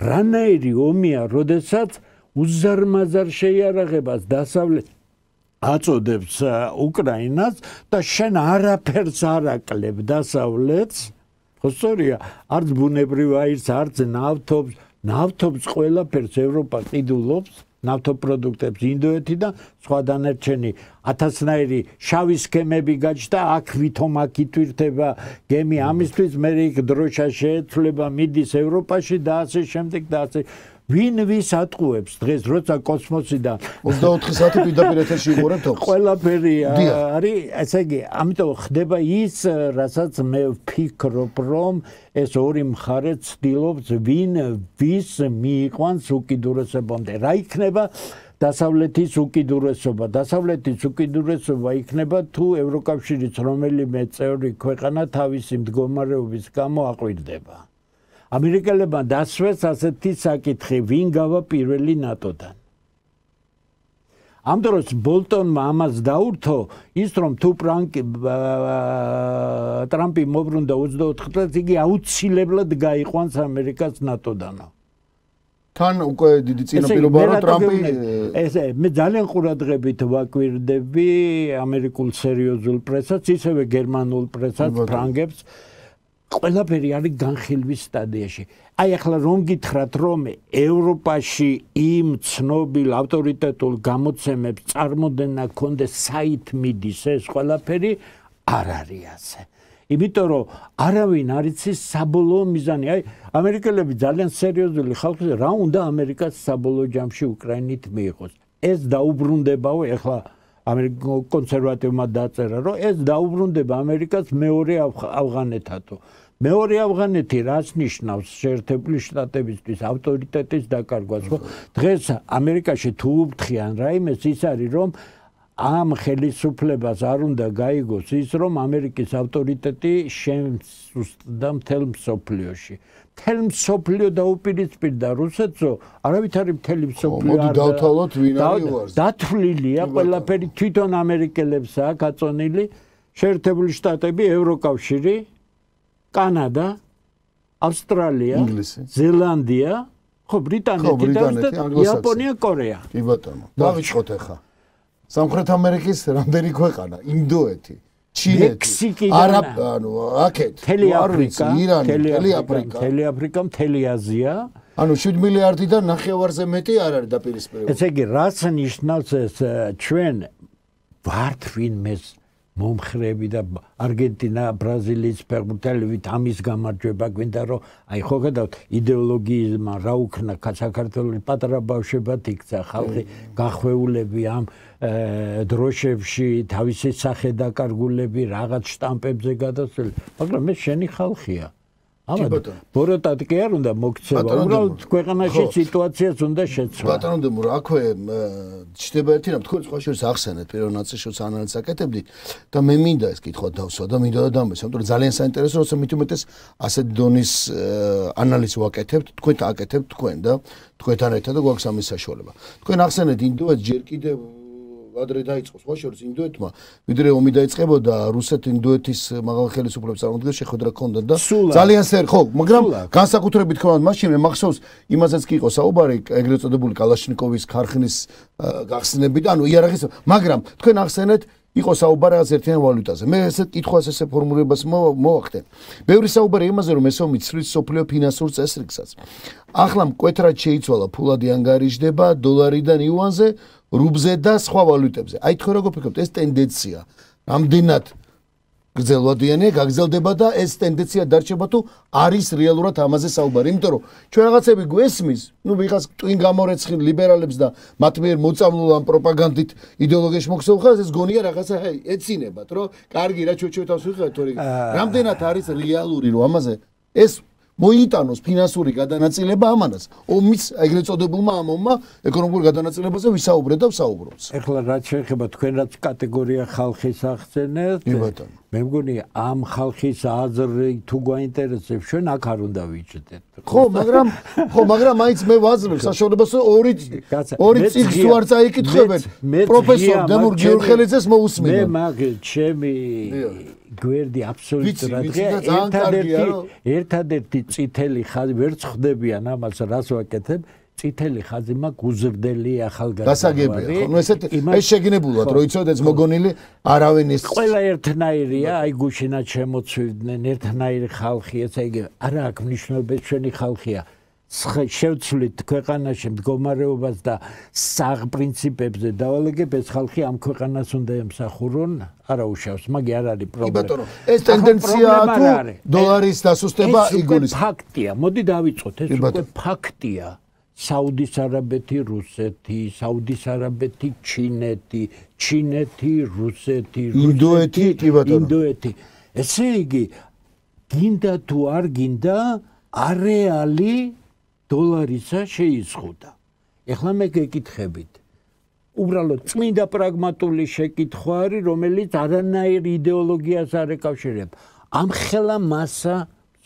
რანაირი ომია როდესაც უზარმაზარ შეიარაღებას დასავლეთ აწოდებს უკრაინას და შენ არაფერს არ აკლებ დასავლეთს ხო სწორია არც ბუნებრივ აირს არც ნავთობს ნავთობს ყველაფერს ევროპა ყიდულობს ნავთობპროდუქტებს ინდოეთიდან სხვა დანარჩენი ათასნაირი შავი სქემები გაჩნდა აქ ვითომ აქ ითვირთება გემი ამისთვის მე იქ დროშა შეეცვლება მიდის ევროპაში და ასე შემდეგ და ასე ვინ ვის ატყუებს დღეს როცა კოსმოსიდან ოცდაოთხი საათი პირდაპირ ეთერში იყურებთ თავს ყველაფერი არის ესე იგი ამიტომ ხდება ის რასაც მე ვფიქრობ რომ ეს ორი მხარე ცდილობს ვინ ვის მიიყვანს უკიდურესობამდე რა იქნება დასავლეთის უკიდურესობა დასავლეთის უკიდურესობა იქნება თუ ევროკავშირის რომელიმე წევრი ქვეყანა თავისი მდგომარეობის გამო აყვირდება ამერიკელებმა დასვეს ასეთი საკითხი ვინ გავა პირველი ნატოდან ამ დროს ბოლტონმა ამას დაურთო ის რომ თუ ტრამპი მოbrunდა ოცდაოთხ წელს იგი აუცილებლად გაიყვანს ამერიკას ნატოდანო თან უკვე დიდი წინაპირობა რომ ტრამპი ესე მე ძალიან ყურადღებით ვაკვირდები ამერიკულ სერიოზულ პრესას ისევე გერმანულ პრესას ფრანგებს ყველაფერი არის განხილვის სტადიაში. აი ახლა რომ გითხრათ რომ ევროპაში იმ ცნობილ ავტორიტეტულ გამოცემებს წარმოდენა კონდეს საით მიდის ეს ყველაფერი არ არის ასე. იმიტომ რომ არავინ არ იცის საბოლოო მიზანი. აი ამერიკელები ძალიან სერიოზული ხალხია რა უნდა ამერიკას საბოლოო ჯამში უკრაინით მიიღოს. ეს დაუბრუნდებაო ახლა ამერიკულ კონსერვატივმა დაწერა რომ ეს დაუბრუნდება ამერიკას მეორე ავღანეთათო. მეორე ავღანეთი რას ნიშნავს შეერთებული შტატებისთვის ავტორიტეტის დაკარგვას ხო? დღეს ამერიკაში თუ უფრთხიან რაიმეს ის არის რომ ამ ხელისუფლებას არ უნდა გაიგოს ის რომ ამერიკის ავტორიტეტი შემსუსტდა მთელ მსოფლიოში. მთელ მსოფლიო დაუპირისპირდა რუსეთსო, არავით არის მთელი მსოფლიო არ დავთვალოთ ვინ არის უარს. დათვლილია ყველაფერი თვითონ ამერიკელებსა გაწონილი შეერთებული შტატები, ევროკავშირი, კანადა, ავსტრალია, ზელანდია, ხო ბრიტანეთი და იაპონია, კორეა. კი ბატონო. დავიწყოთ ახლა. სამხრეთ ამერიკის რამდენი ქვეყანა? ინდოეთი, ჩინეთი, მექსიკი, არაბ, ანუ აქეთ, მთელი აფრიკა, მთელი აფრიკა, მთელი აფრიკა, მთელი აზია. ანუ შვიდ მილიარდიდან ნახევარზე მეტი არ არის დაპირისპირებული. ესე იგი, რაც ნიშნავს ეს ჩვენ ვართ ვინმეს მომხრები და არგენტინა, ბრაზილიის ფეხბურთელებით ამის გამარჯვება გვინდა რომ აი ხო გადავთ იდეოლოგიისმა რა უქნა საქართველოს პატარა ბავშვებად იქცა ხალხი გახვეულები ამ დროშებში თავისი სახე დაკარგულები რაღაც შტამპებზე გადასული მაგრამ ეს შენი ხალხია ამათ ბოროტად კი არ უნდა მოქცევა უბრალოდ ქვეყანაში სიტუაციას უნდა შეცვა ბატონო რა აქვე ჩდება ერთი რამ თქვენ სხვა შორის ახსენეთ პირველ ნაწილშიც ანალიზს აკეთებდით და მე მინდა ეს კითხვა დავსვა და მინდა და დამეს ამიტომ ძალიან საინტერესო როცა მით უმეტეს ასეთ დონის ანალიზს ვაკეთებთ თქვენ აკეთებთ თქვენ და თქვენთან ერთად და გვაქვს ამის საშუალება თქვენ ახსენეთ ინდოეთს ჯერ კიდევ ადრე დაიწყო სხვა შორის ინდოეთმა ვიდრე ომი დაიწყებოდა რუსეთ-ინდოეთის მაღალ ხელისუფლების წარმოადგენს შეხვედრა ჰქონდა და ძალიან სერ ხო მაგრამ განსაკუთრებით თქვენ მაშინ მე მახსოვს იმასაც კი იყო საუბარი ეგრეთ წოდებული კალაშნიკოვის ქარხნის გახსნები და ანუ იარაღის მაგრამ თქვენ ახსენეთ იყო საუბარი რაღაც ერთიან ვალუტაზე მე ესე კითხვას ესე ფორმულებას მოვახდენ ბევრი საუბარი იმაზე რომ ეს ომი ცვლის სოფლიო ფინანსურ წესრიგსაც ახლა მკვეთრად შეიცვალა ფულადი ანგარიშდება დოლარიდან იუანზე რუბლზე და სხვა ვალუტებზე. აი თქვენ როგორ ფიქრობთ ეს ტენდენცია რამდენად გრძელვადიანია, გაგრძელდება და ეს ტენდენცია დარჩება თუ არის რეალურად ამაზე საუბარი. იმიტომ რომ ჩვენ რაღაცები გვესმის, ნუ ვიღაც ტვინ გამორეცხილ ლიბერალებს და მათ მიერ მოწამლულ ამ პროპაგანდით იდეოლოგიაში მოქცეულ ხალხს ეს გონია რაღაცა ეცინებათ, რომ კარგი რა ჩვენ ჩვენთავს ვიხართ, თორე რამდენად არის რეალური რომ ამაზე ეს მოიტანოს ფინანსური გადანაწილება ამანაც. ომის ეგრეთ წოდებულმა ამ ომმა ეკონომიკურ გადანაწილებაზე ვისაუბრეთ და ვსაუბრობთ. ეხლა რაც შეეხება თქვენ რაც კატეგორია ხალხის ახსენეთ, მე მგონი ამ ხალხის აზრი თუ გვაინტერესებს, ჩვენ აქ არ უნდა ვიჭდეთ. ხო, მაგრამ ხო, მაგრამ მაინც მე ვაძლევ საშუალებას ორი ორი წიგნს თუ არ წაიკითხებენ. პროფესორ დემურ გიორხელიძეს მოусმინო. მე მაგ ჩემი გვერდი აბსოლუტურად ერთადერთი ერთადერთი წითელი ხაზი ვერ წხდებიან ამას რას ვაკეთებ წითელი ხაზი მაქვს უზრდელი ახალგაზრდა დასაგებია ხო ნუ ესეთ ეს შეგინებულად რომ იცოდეთ მოგონილი არავინ ის ყველა ერთნაირია აი გუშინაც შემოწვიდნენ ერთნაირი ხალხი ესე იგი არა აქვს მნიშვნელობა ჩვენი ხალხია შევცვლით ქვეყანაში მდგომარეობას და საღ პრინციპებზე დავალეგებ ეს ხალხი ამ ქვეყანას უნდა ემსახურონ არა უშავს მაგი არ არის პრობლემა ბატონო ეს ტენდენცია თუ დოლარის დასუსტება იგონის ფაქტია მოდი დავიწყოთ ეს უკვე ფაქტია საუდის არაბეთი რუსეთი საუდის არაბეთი ჩინეთი ჩინეთი რუსეთი ინდოეთი კი ბატონო ინდოეთი ესე იგი გინდა თუ არ გინდა არეალი დოლარისა შეიზღუდა. ეხლა მე გეკითხებით. უბრალოდ წმინდა პრაგმატული შეკითხვა არის, რომელიც არანაირ იდეოლოგიას არ ეკავშირება. ამ ხელა მასა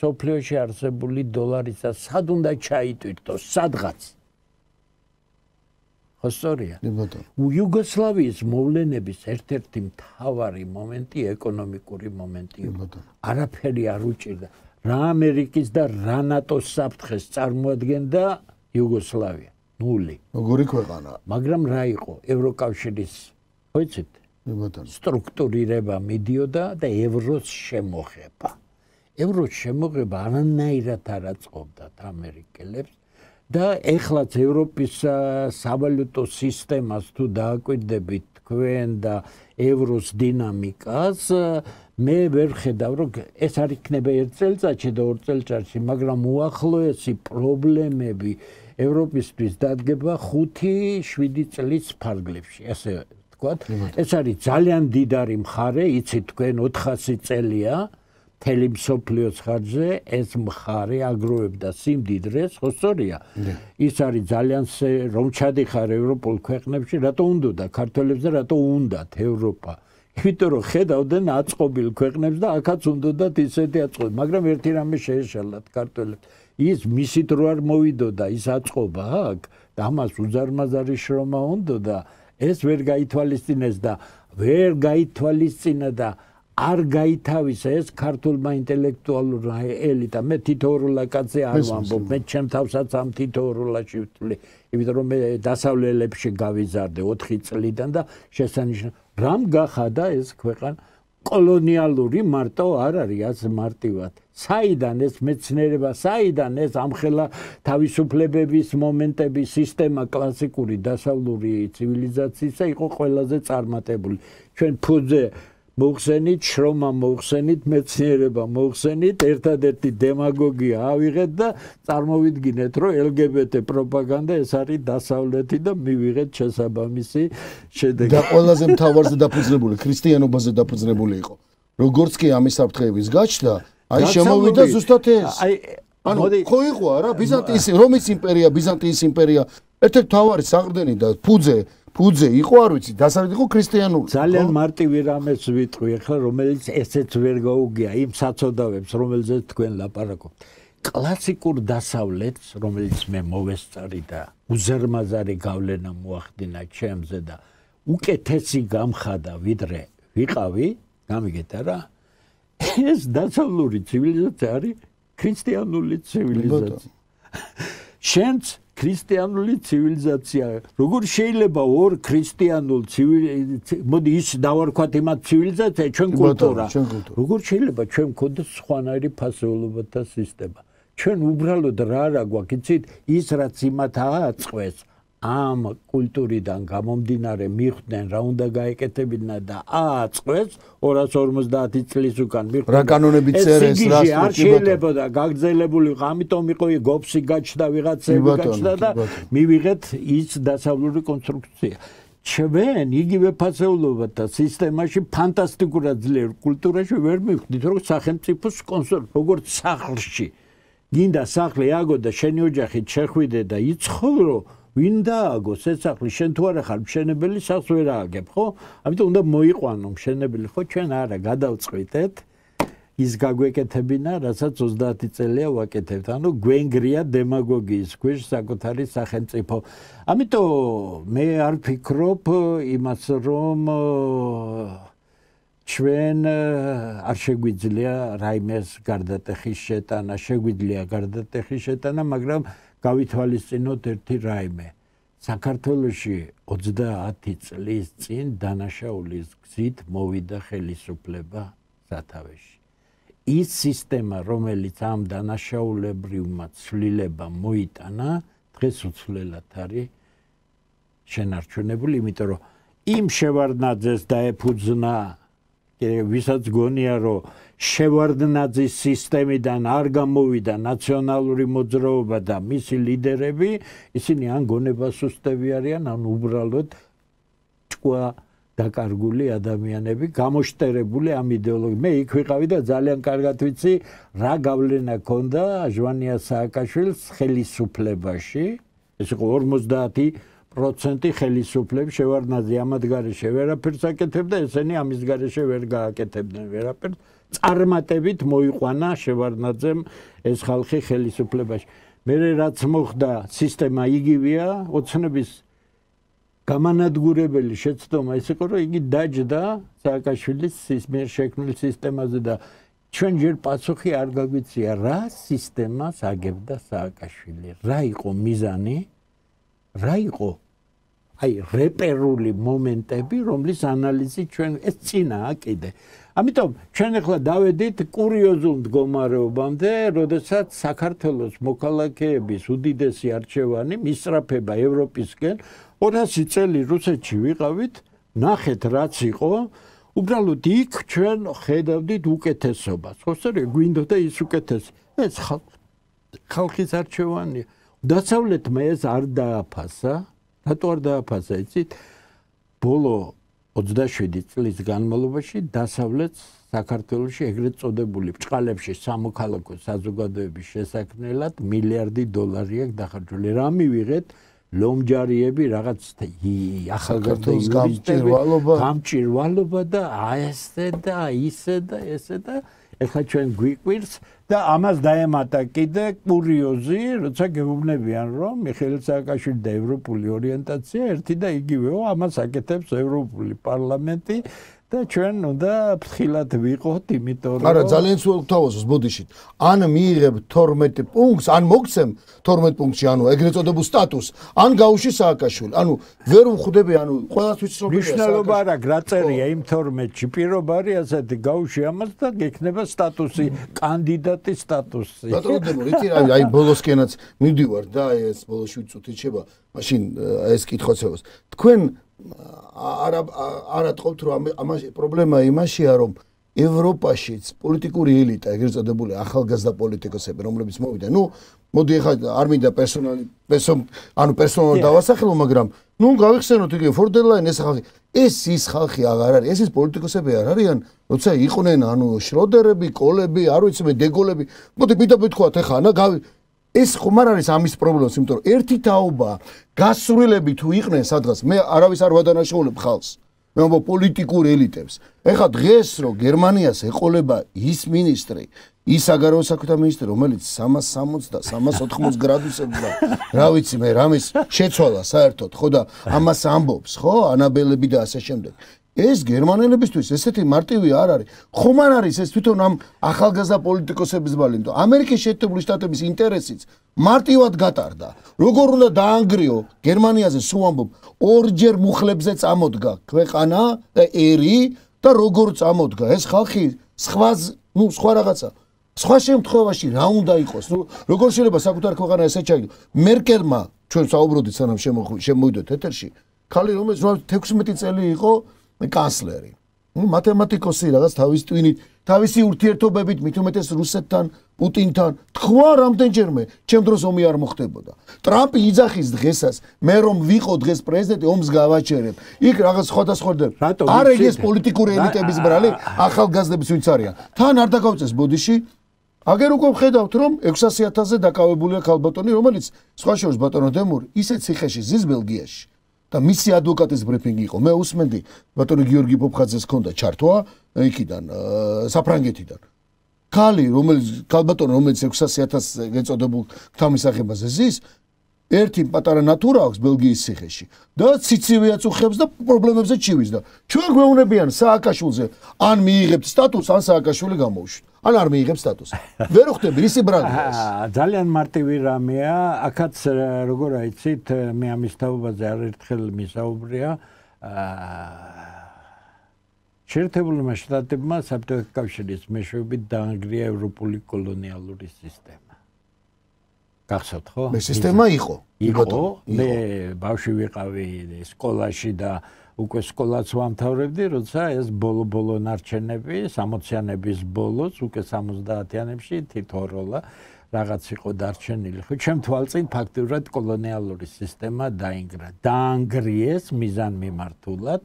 სოფლიოში არსებული დოლარისა სად უნდა ჩაიტვირთოს, სადღაც. ხო სწორია? იუგოსლავიის მოვლენების ერთ-ერთი მთავარი მომენტი ეკონომიკური მომენტი იყო. არაფერი არ უჭირდა. რა ამერიკის და რა ნატოს საფრთხეს წარმოადგენდა იუგოსლავია ნული როგორი ქვეყანა მაგრამ რა იყო ევროკავშირის ხო იცით სტრუქტურირება მიდიოდა და ევროს შემოღება ევროს შემოღება არანაირად არ აწყობდათ ამერიკელებს და ეხლაც ევროპის სავალუტო სისტემას თუ დააკვირდებით თქვენ და ევროს დინამიკას მე ვერ ხედავ რომ ეს არ იქნება ერთ წელწადში და ორ წელწადში მაგრამ უახლოესი პრობლემები ევროპისთვის დადგება ხუთი შვიდი წლის ფარგლებში ასე ვთქვათ ეს არის ძალიან დიდარი მხარე იცით თქვენ ოთხასი წელია მთელი მსოფლიოს ხარჯზე ეს მხარე აგროვებდა სიმდიდრეს ხო სწორია ის არის ძალიან რომ ჩადიხარ ევროპულ ქვეყნებში რატო უნდოდა ქართველებს და რატო უნდათ ევროპა იმიტომ რომ ხედავდნენ აწყობილ ქვეყნებს და აქაც უნდათ ისეთი აწყობი მაგრამ ერთი რამე შეეშალათ ქართველებს ის მისით რო არ მოვიდოდა ის აწყობა აქ და ამას უზარმაზარი შრომა უნდოდა ეს ვერ გაითვალისწინეს და ვერ გაითვალისწინა და არ გაითავისა ეს ქართულმა ინტელექტუალურმა ელიტამ მე თითოეულა კაცი არ ვამბობ მე ჩემ თავსაც ამ თითოეულაში ვთვლი იმიტომ რომ მე დასავლელებში გავიზარდე ოთხი წლიდან და შესანიშნავ რამ გახადა ეს ქვეყანა კოლონიალური მარტო არ არის ასე მარტივად საიდან ეს მეცნიერება საიდან ეს ამხელა თავისუფლებების მომენტები სისტემა კლასიკური დასავლური ცივილიზაციისა იყო ყველაზე წარმატებული ჩვენ ფუძე მოხსენით შრომა მოხსენით მეცნიერება მოხსენით ერთადერთი დემაგოგია ავიღეთ და წარმოვიდგინეთ რომ ელგებეტე პროპაგანდა ეს არის დასავლეთი და მივიღეთ შესაბამისი შედეგი და ყველაზე მთავარზე დაფუძნებული ქრისტიანობაზე დაფუძნებული იყო როგორც კი ამის საფრთხეების გაჩნდა აი შემოვიდა ზუსტად ეს აი ანუ ხო იყო არა ბიზანტიის რომის იმპერია ბიზანტიის იმპერია ერთ-ერთი მთავარი საყრდენი და ფუძე ფუძე იყო არ ვიცი დასავლეთ იყო ქრისტიანული ძალიან მარტივი რამეს ვიტყვი ახლა რომელიც ესეც ვერ გაუგია იმ საწოდავებს რომელზეც თქვენ ლაპარაკობთ კლასიკურ დასავლეთს რომელიც მე მოვესწარი და უზარმაზარი გავლენა მოახდინა ჩემზე და უკეთესი გამხადა ვიდრე ვიყავი გამიგეთ არა ეს დასავლური ცივილიზაცია არის ქრისტიანული ცივილიზაცია შენც ქრისტიანული ცივილიზაცია როგორ შეიძლება ორ ქრისტიანულ ცივილიზაციას მოდი ის დავარქვათ იმათ ცივილიზაცია ჩვენ კულტურა როგორ შეიძლება ჩვენ გქონდეს სხვანაირი ფასეულობათა სისტემა ჩვენ უბრალოდ რა არა გვაქვს იცით ის რაც იმათ ააწყვეს ამ კულტურიდან გამომდინარე მიხვდნენ რა უნდა გაეკეთებინა და აწყვეს ორას ორმოცდაათი წლის უკან მიხვდნენ რა კანონები წერეს რა არ შეიძლებოდა გაგრძელებული ამიტომ იყო გოფსი გაჩნდა ვიღაცები გაჩნდა და მივიღეთ ის დასავლური კონსტრუქცია ჩვენ იგივე ფასეულობათა სისტემაში ფანტასტიკურად ძლიერ კულტურაში ვერ მივხვდით როგორც სახელმწიფოს კონსტრუქცია როგორც სახლში გინდა სახლი აგო და შენი ოჯახით შეხვიდე და იცხოვრო ვინ დააგოს ეს სახლი შენ თუ არა ხარ მშენებელი სახლს ვერ ააგებ ხო ამიტომ უნდა მოიყვანო მშენებელი ხო ჩვენ არა გადავწყვიტეთ ის გაგვეკეთებინა რასაც ოცდაათი წელია ვაკეთებთ ანუ გვენგრია დემაგოგიის ქვეშ საკუთარი სახელმწიფო ამიტომ მე არ ფიქრობ იმას რომ ჩვენ არ შეგვიძლია რაიმეს გარდატეხის შეტანა შეგვიძლია გარდატეხის შეტანა მაგრამ გავითვალისწინოთ ერთი რაიმე საქართველოში ოცდაათი წლის წინ დანაშაულის გზით მოვიდა ხელისუფლება სათავეში ის სისტემა რომელიც ამ დანაშაულებრივმა ცვლილებამ მოიტანა დღეს უცვლელად არის შენარჩუნებული იმიტომ რომ იმ შევარდნაძეს დაეფუძნა ვისაც გონია რომ შევარდნაძის სისტემიდან არ გამოვიდა ნაციონალური მოძრაობა და მისი ლიდერები ისინი ან გონებას უსტევი არიან ან უბრალოდ ჭკუა დაკარგული ადამიანები გამოშტერებული ამ იდეოლოგიით მე იქ ვიყავი და ძალიან კარგად ვიცი რა გავლენა ქონდა ჟვანია სააკაშვილის ხელისუფლებაში ეს იყო ორმოცდაათი პროცენტი ხელისუფლების შევარდნაძე ამად გარეშე ვერაფერს აკეთებდა ესენი ამის გარეშე ვერ გააკეთებდნენ ვერაფერს წარმატებით მოიყვანა შევარდნაძემ ეს ხალხი ხელისუფლებაში მე რაც მოხდა სისტემა იგივეა ოცნების გამანადგურებელი შეცდომა ის იყო რომ იგი დაჯდა სააკაშვილის მიერ შექმნილ სისტემაზე და ჩვენ ჯერ პასუხი არ გაგვიცია რა სისტემას აგებდა სააკაშვილი რა იყო მიზანი რა იყო აი რეპერული მომენტები რომლის ანალიზი ჩვენ ეს წინაა კიდე ამიტომ ჩვენ ახლა დავედით კურიოზულ მდგომარეობამდე როდესაც საქართველოს მოქალაქეების უდიდესი არჩევანი მისწრაფება ევროპისკენ ორასი წელი რუსეთში ვიყავით ნახეთ რაც იყო უბრალოდ იქ ჩვენ ხედავდით უკეთესობას ხო სწორია გვინდოდა ის უკეთესი ეს ხალხის არჩევანია დასავლეთმა ეს არ დააფასა რატო არ დააფასა იცით ბოლო ოცდაშვიდი წლის განმავლობაში დასავლეთს საქართველოში ეგრეთ წოდებული ბჭყალებში სამოქალაქო საზოგადოების შესაქმნელად მილიარდი დოლარი აქვს დახარჯული რა მივიღეთ ლომჯარიები რაღაც ახალგაზრდა გამჭირვალობა გამჭირვალობა და ესე და ისე და ესე და ეხლა ჩვენ გვიყვირს და ამას დაემატა კიდე კურიოზი როცა გეუბნებიან რომ მიხეილ სააკაშვილი და ევროპული ორიენტაცია ერთი და იგივეო ამას აკეთებს ევროპული პარლამენტი და ჩვენ უნდა ფრთხილად ვიყოთ იმიტომ რომ არა ძალიან სულ თავაზობს ბოდიშით ან მიიღებ თორმეტ პუნქტს ან მოგცემ თორმეტ პუნქტში ანუ ეგრეთ წოდებულ სტატუსს ან გაუში სააკაშვილი ანუ ვერ უხვდები ანუ ყველასთვის რომ მნიშვნელობა არა გრაწერია იმ თორმეტში პირობა არის ასეთი გაუში ამას და გექნება სტატუსი კანდიდატის სტატუსი ბატონო რითი აი ბოლოსკენაც მივდივარ და ეს ბოლოში ვიწუთი შეება მაშინ ეს კითხვაცებას თქვენ არა არა თქობთ რომ ამაში პრობლემა იმაშია რომ ევროპაშიც პოლიტიკური ელიტა ეგრეთ წოდებული ახალგაზრდა პოლიტიკოსები რომლებიც მოვიდა ნუ მოდი ახლა არ მინდა პერსონალი ანუ პერსონალურად დავასახელო მაგრამ ნუ გავიხსენოთ იგივე ფორდერლაინ ეს ხალხი ეს ის ხალხი აღარ არის ეს ის პოლიტიკოსები არ არიან როცა იყვნენ ანუ შროდერები კოლები არ ვიცი მე დეგოლები მოდი პირდაპირ თქვათ ახლა ანა გავი ეს ხომ არ არის ამის პრობლემას, იმიტომ რომ ერთი თაობა გასრულები თუ იყვნენ სადღაც, მე არავის არ ვადანაშაულებ ხალხს. მე ვამბობ პოლიტიკურ ელიტებს. ეხლა დღეს რო გერმანიას ეყოლება ის მინისტრი, ის საგარეო საქმეთა მინისტრი, რომელიც სამას სამოცდა და სამას ოთხმოცდა გრადუსებზე და რა ვიცი მე, რამის შეცვალა საერთოდ, ხო და ამას ამბობს, ხო, ანაბელები და ასე შემდეგ. ეს გერმანელებისთვის ესეთი მარტივი არ არის. ხომ არ არის ეს თვითონ ამ ახალგაზრდა პოლიტიკოსების ბალი, იმიტომ ამერიკის შეერთებული შტატების ინტერესიც მარტივად გატარდა. როგორ უნდა დაანგრიო გერმანიაზე სულ ამბობ, ორჯერ მუხლებზე წამოდგა ქვეყანა და ერი და როგორ წამოდგა ეს ხალხი სხვა ნუ სხვა რაღაცა სხვა შემთხვევაში რა უნდა იყოს? ნუ როგორ შეიძლება საკუთარ ქვეყანა ესე ჩაიგდო? მერკელმა ჩვენ საუბრობდით სანამ შემოვიდეთ ეთერში, ხალი რომელიც თექვსმეტი წელი იყო კანცლერი. მათემატიკოსი რაღაც თავის ტვინით, თავისი ურთიერთობებით მით უმეტეს რუსეთთან, პუტინთან, თქვა რამდენჯერმე, ჩემ დროს ომი არ მოხდებოდა. ტრამპი იძახის დღესაც, მე რომ ვიყო დღეს პრეზიდენტი, ომს გავაჩერებ. იქ რაღაც სხვადასხვა არ ეგეს პოლიტიკური ელიტების ბრალი, ახალგაზრდების ვინც არიან. თან არ დაგავწეს ბოდიში. აგერ უკვე ვხედავთ, რომ ექვსასი ათასზე დაკავებულია ქალბატონი, რომელიც სხვა შორის ბატონო დემური, ისეთ ციხეში ზის ბელგიაში. და მისი ადვოკატის ბრიფინგი იყო. მე უსმენდი ბატონი გიორგი პოპხაძეს ჰქონდა ჩართვა იქიდან საფრანგეთიდან. ქალი, რომელიც ქალბატონი, რომელიც ექვსასი ათასზე გეწოდებულ თავმისახებაზე ზის, ერთი პატარა ნატურა აქვს ბელგიის ციხეში და ციცივეაც უხებს და პრობლემებზე ჩივის და ჩვენ გვეუბნებიან სააკაშვილზე ან მიიღებთ სტატუსს, ან სააკაშვილი გამოუშვით. ან არ მიიღებს სტატუსს. ვერ ხვდები ისი ბრალია ეს. ძალიან მარტივი რამეა, აქაც როგორ აიცით, მე ამის თაობაზე არერთხელ მისაუბრია. შეერთებულმა შტატებმა საბჭოთა კავშირის მეშვეობით დაანგრია ევროპული კოლონიალური სისტემა. გახსოვთ ხო? მე სისტემა იყო. იყო, მე ბავშვი ვიყავი სკოლაში და უკვე სკოლაც ვამთავრებდი, როცა ეს ბოლო-ბოლო ნარჩენები, სამოციანების ბოლოს, უკვე სამოცდაათიანებში თითოეულა რაღაც იყო დარჩენილი. ხო, ჩემ თვალწინ ფაქტურად კოლონიალური სისტემა დაინგრა. დაანგრიეს მიზანმიმართულად,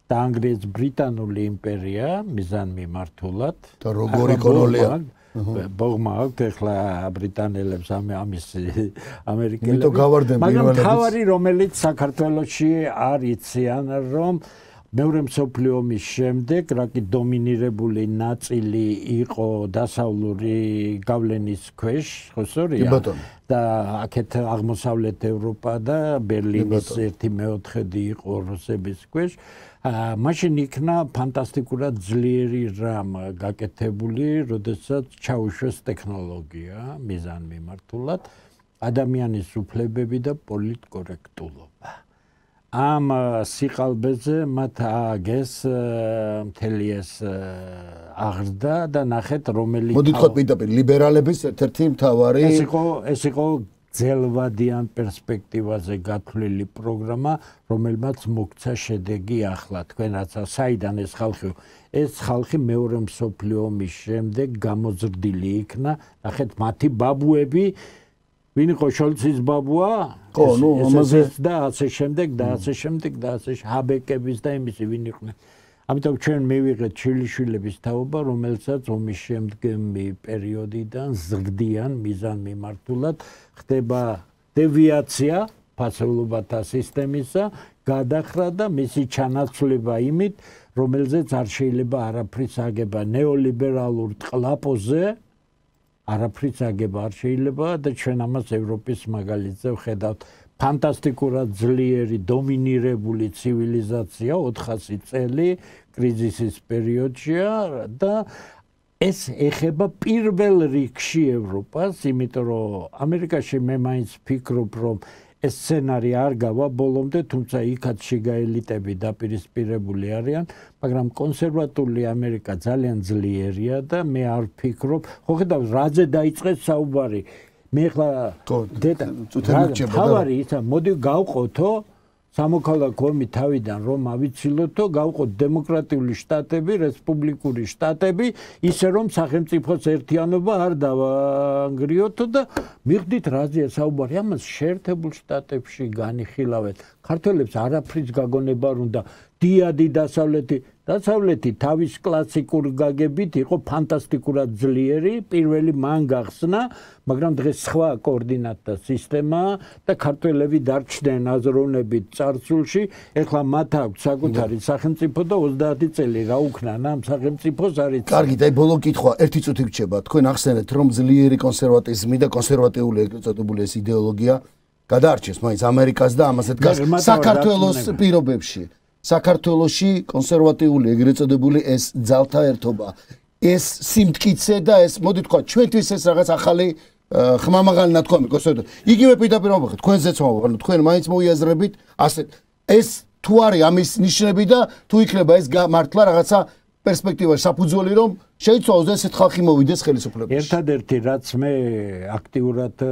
დაანგრიეს ბრიტანული იმპერია მიზანმიმართულად. და როგორი კოლონია? ბოგმა აქვს ახლა ბრიტანელებს ამის ამერიკელებს. იმიტომ გავარდნენ პირველად. მაგრამ თავარი რომელიც საქართველოში არ იციან რომ მეორე მსოფლიო ომის შემდეგ რაკი დომინირებული ნაწილი იყო დასავლური გავლენის ქვეშ, ხო სწორია? და აქეთ აღმოსავლეთ ევროპა და ბერლინის ერთი მეოთხედი იყო რუსების ქვეშ. მაშინ იქნა ფანტასტიკურად ძლიერი რამ გაკეთებული, როდესაც ჩაუშვეს ტექნოლოგია მიზანმიმართულად, ადამიანის უფლებები და პოლიტკორექტულობა. ამ სიყალბეზე მათ ააგეს მთელი ეს აღზრდა და ნახეთ რომელიც მოდით ხო პირდაპირ ლიბერალების ერთ-ერთი მთავარი ეს იყო ეს იყო ძელვადიან პერსპექტივაზე გათვლილი პროგრამა, რომელმაც მოგცა შედეგი ახლა. თქვენ რაცა საიდან ეს ხალხი ეს ხალხი მეორე მსოფლიო ომის შემდეგ გამოზრდილი იქნა. ნახეთ მათი ბაბუები ვინ იყო შოლცის ბაბუა? ხო, ნუ ამაზე და ასე შემდეგ და ასე შემდეგ და ასე ჰაბეკების და იმისი ვინ იყვნენ. ამიტომ ჩვენ მივიღეთ შვილიშვილების თაობა, რომელსაც ომის შემდგომი პერიოდიდან ზრდიან მიზანმიმართულად ხდება დევიაცია ფასეულობათა სისტემისა, გადახრა და მისი ჩანაცვლება იმით, რომელზეც არ შეიძლება არაფრის აგება ნეოლიბერალურ ტყლაპოზე არაფრიც აგება არ შეიძლება და ჩვენ ამას ევროპის მაგალითზე ვხედავთ. ფანტასტიკურად ძლიერი დომინირებული ცივილიზაცია ოთხასი წელი კრიზისის პერიოდშია და ეს ეხება პირველ რიგში ევროპას, იმიტომ რომ ამერიკაში მე მაინც ვფიქრობ, რომ ეს სცენარი არ გავა ბოლომდე, თუმცა იქაც შიგა ელიტები დაპირისპირებული არიან, მაგრამ კონსერვატული ამერიკა ძალიან ძლიერია და მე არ ვფიქრობ, ხო ხედავთ, რაზე დაიწყეს საუბარი. მე ხლა დედა თავარი ისა მოდი გავყოთო სამოქალაქო ომი თავიდან რომ ავიცილოთო გავყოთ დემოკრატიული შტატები, რესპუბლიკური შტატები, ისე რომ სახელმწიფოს ერთიანობა არ დავანგრიოთო და მივხვდით რაზეა საუბარი. ამას შეერთებულ შტატებში განიხილავეთ. ქართველებს არაფრის გაგონება არ უნდა. დიადი დასავლეთი დასავლეთი თავის კლასიკურ გაგებით იყო ფანტასტიკურად ძლიერი, პირველი მან გახსნა, მაგრამ დღეს სხვა კოორდინატთა სისტემაა და ქართველები დარჩნენ აზროვნებით წარსულში, ეხლა მათ აქვს საკუთარი სახელმწიფო და ოცდაათი წელი რა უქნან ამ სახელმწიფოს არის. კარგი, და ბოლო კითხვა, ერთი წუთი გრჩება. თქვენ ახსენეთ, რომ ძლიერი კონსერვატიზმი და კონსერვატიული ეგრეთწოდებული ეს იდეოლოგია გადაარჩეს მაინც ამერიკას და ამაზე დგას საქართველოს პირობებში. საქართველოში კონსერვატიული ეგრეთ წოდებული ეს ძალთა ერთობა, ეს სიმტკიცე და ეს მოდი თქვა ჩვენთვის ეს რაღაც ახალი ხმამაღალი ნათქვამი კონსერვატიული. იგივე პირდაპირ ვამბობთ, თქვენზეც ვამბობთ, თქვენ მაინც მოიაზრებით, ასე ეს თუ არის ამის ნიშნები და თუ იქნება ეს მართლა რაღაცა პერსპექტივაში საფუძველი რომ შეიცვალოს და ესეთ ხალხი მოვიდეს ხელისუფლებაში. ერთადერთი რაც მე აქტიურად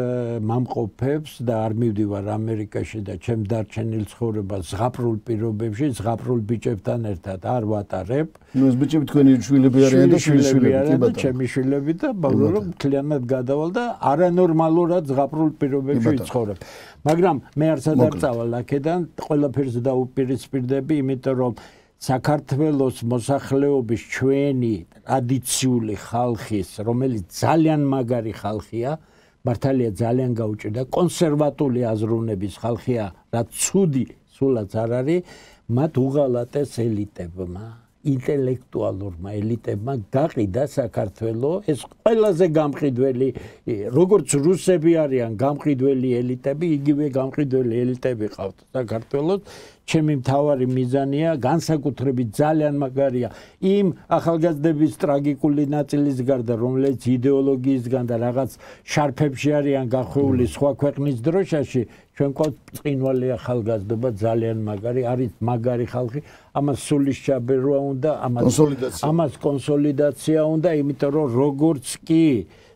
მამყოფებს და არ მივდივარ ამერიკაში და ჩემ დარჩენილ ცხოვრებას ზღაპრულ პირობებში, ზღაპრულ ბიჭებთან ერთად არ ვატარებ. ნუ ეს ბიჭები თქვენი შვილები არიან და შვილები და ჩემი შვილები და ბოლო რომ მთლიანად გადავალ და არანორმალურად ზღაპრულ პირობებში ვიცხოვრებ. მაგრამ მე არც არ წავალ აქედან, ყველაფერს დაუპირისპირდები, იმიტომ რომ საქართველოს მოსახლეობის ჩვენი ტრადიციული ხალხის, რომელიც ძალიან მაგარი ხალხია, მართალია ძალიან გაუჭირდა, კონსერვატული აზროვნების ხალხია, რაც ცუდი სულაც არ არის, მათ უღალატეს ელიტებმა, ინტელექტუალურმა ელიტებმა გაყიდა საქართველოს, ეს ყველაზე გამყიდველი, როგორც რუსები არიან გამყიდველი ელიტები, იგივე გამყიდველი ელიტები ყავთ საქართველოს. ჩემი მთავარი მიზანია განსაკუთრებით ძალიან მაგარია იმ ახალგაზრდების ტრაგიკული ნაწილის გარდა რომელიც იდეოლოგიისგან და რაღაც შარფებში არიან გახვეული სხვა ქვეყნის დროშაში ჩვენ ყავთ წინვალი ახალგაზრდობა ძალიან მაგარი არის მაგარი ხალხი ამას სულისჩაბერვა უნდა ამას ამას კონსოლიდაცია უნდა იმიტომ რომ როგორც კი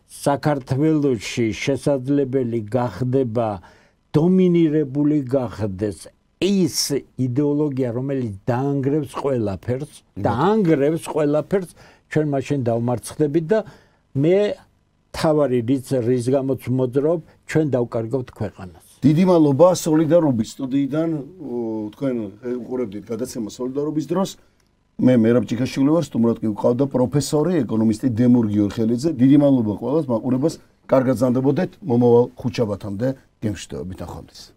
საქართველოში შესაძლებელი გახდება დომინირებული გახდეს ის იდეოლოგია რომელიც დაანგრევს ყველაფერს დაანგრევს ყველაფერს ჩვენ მაშინ დავმარცხდებით და მე თავარი რის რის გამოც მოძრაობ ჩვენ დავკარგავთ ქვეყანას დიდი მადლობა სოლიდარობის სტუდიიდან თქვენ უყურებდით გადაცემა სოლიდარობის დროს მე მერაბ ჭიქაშვილი ვარ სტუმრად კი ვყავდა პროფესორი ეკონომისტი დემურ გიორხელიძე დიდი მადლობა ყველას მაყურებას კარგად ზანდებოდეთ მომავალ ხუთშაბათამდე გემშვიდობებით ახალმდის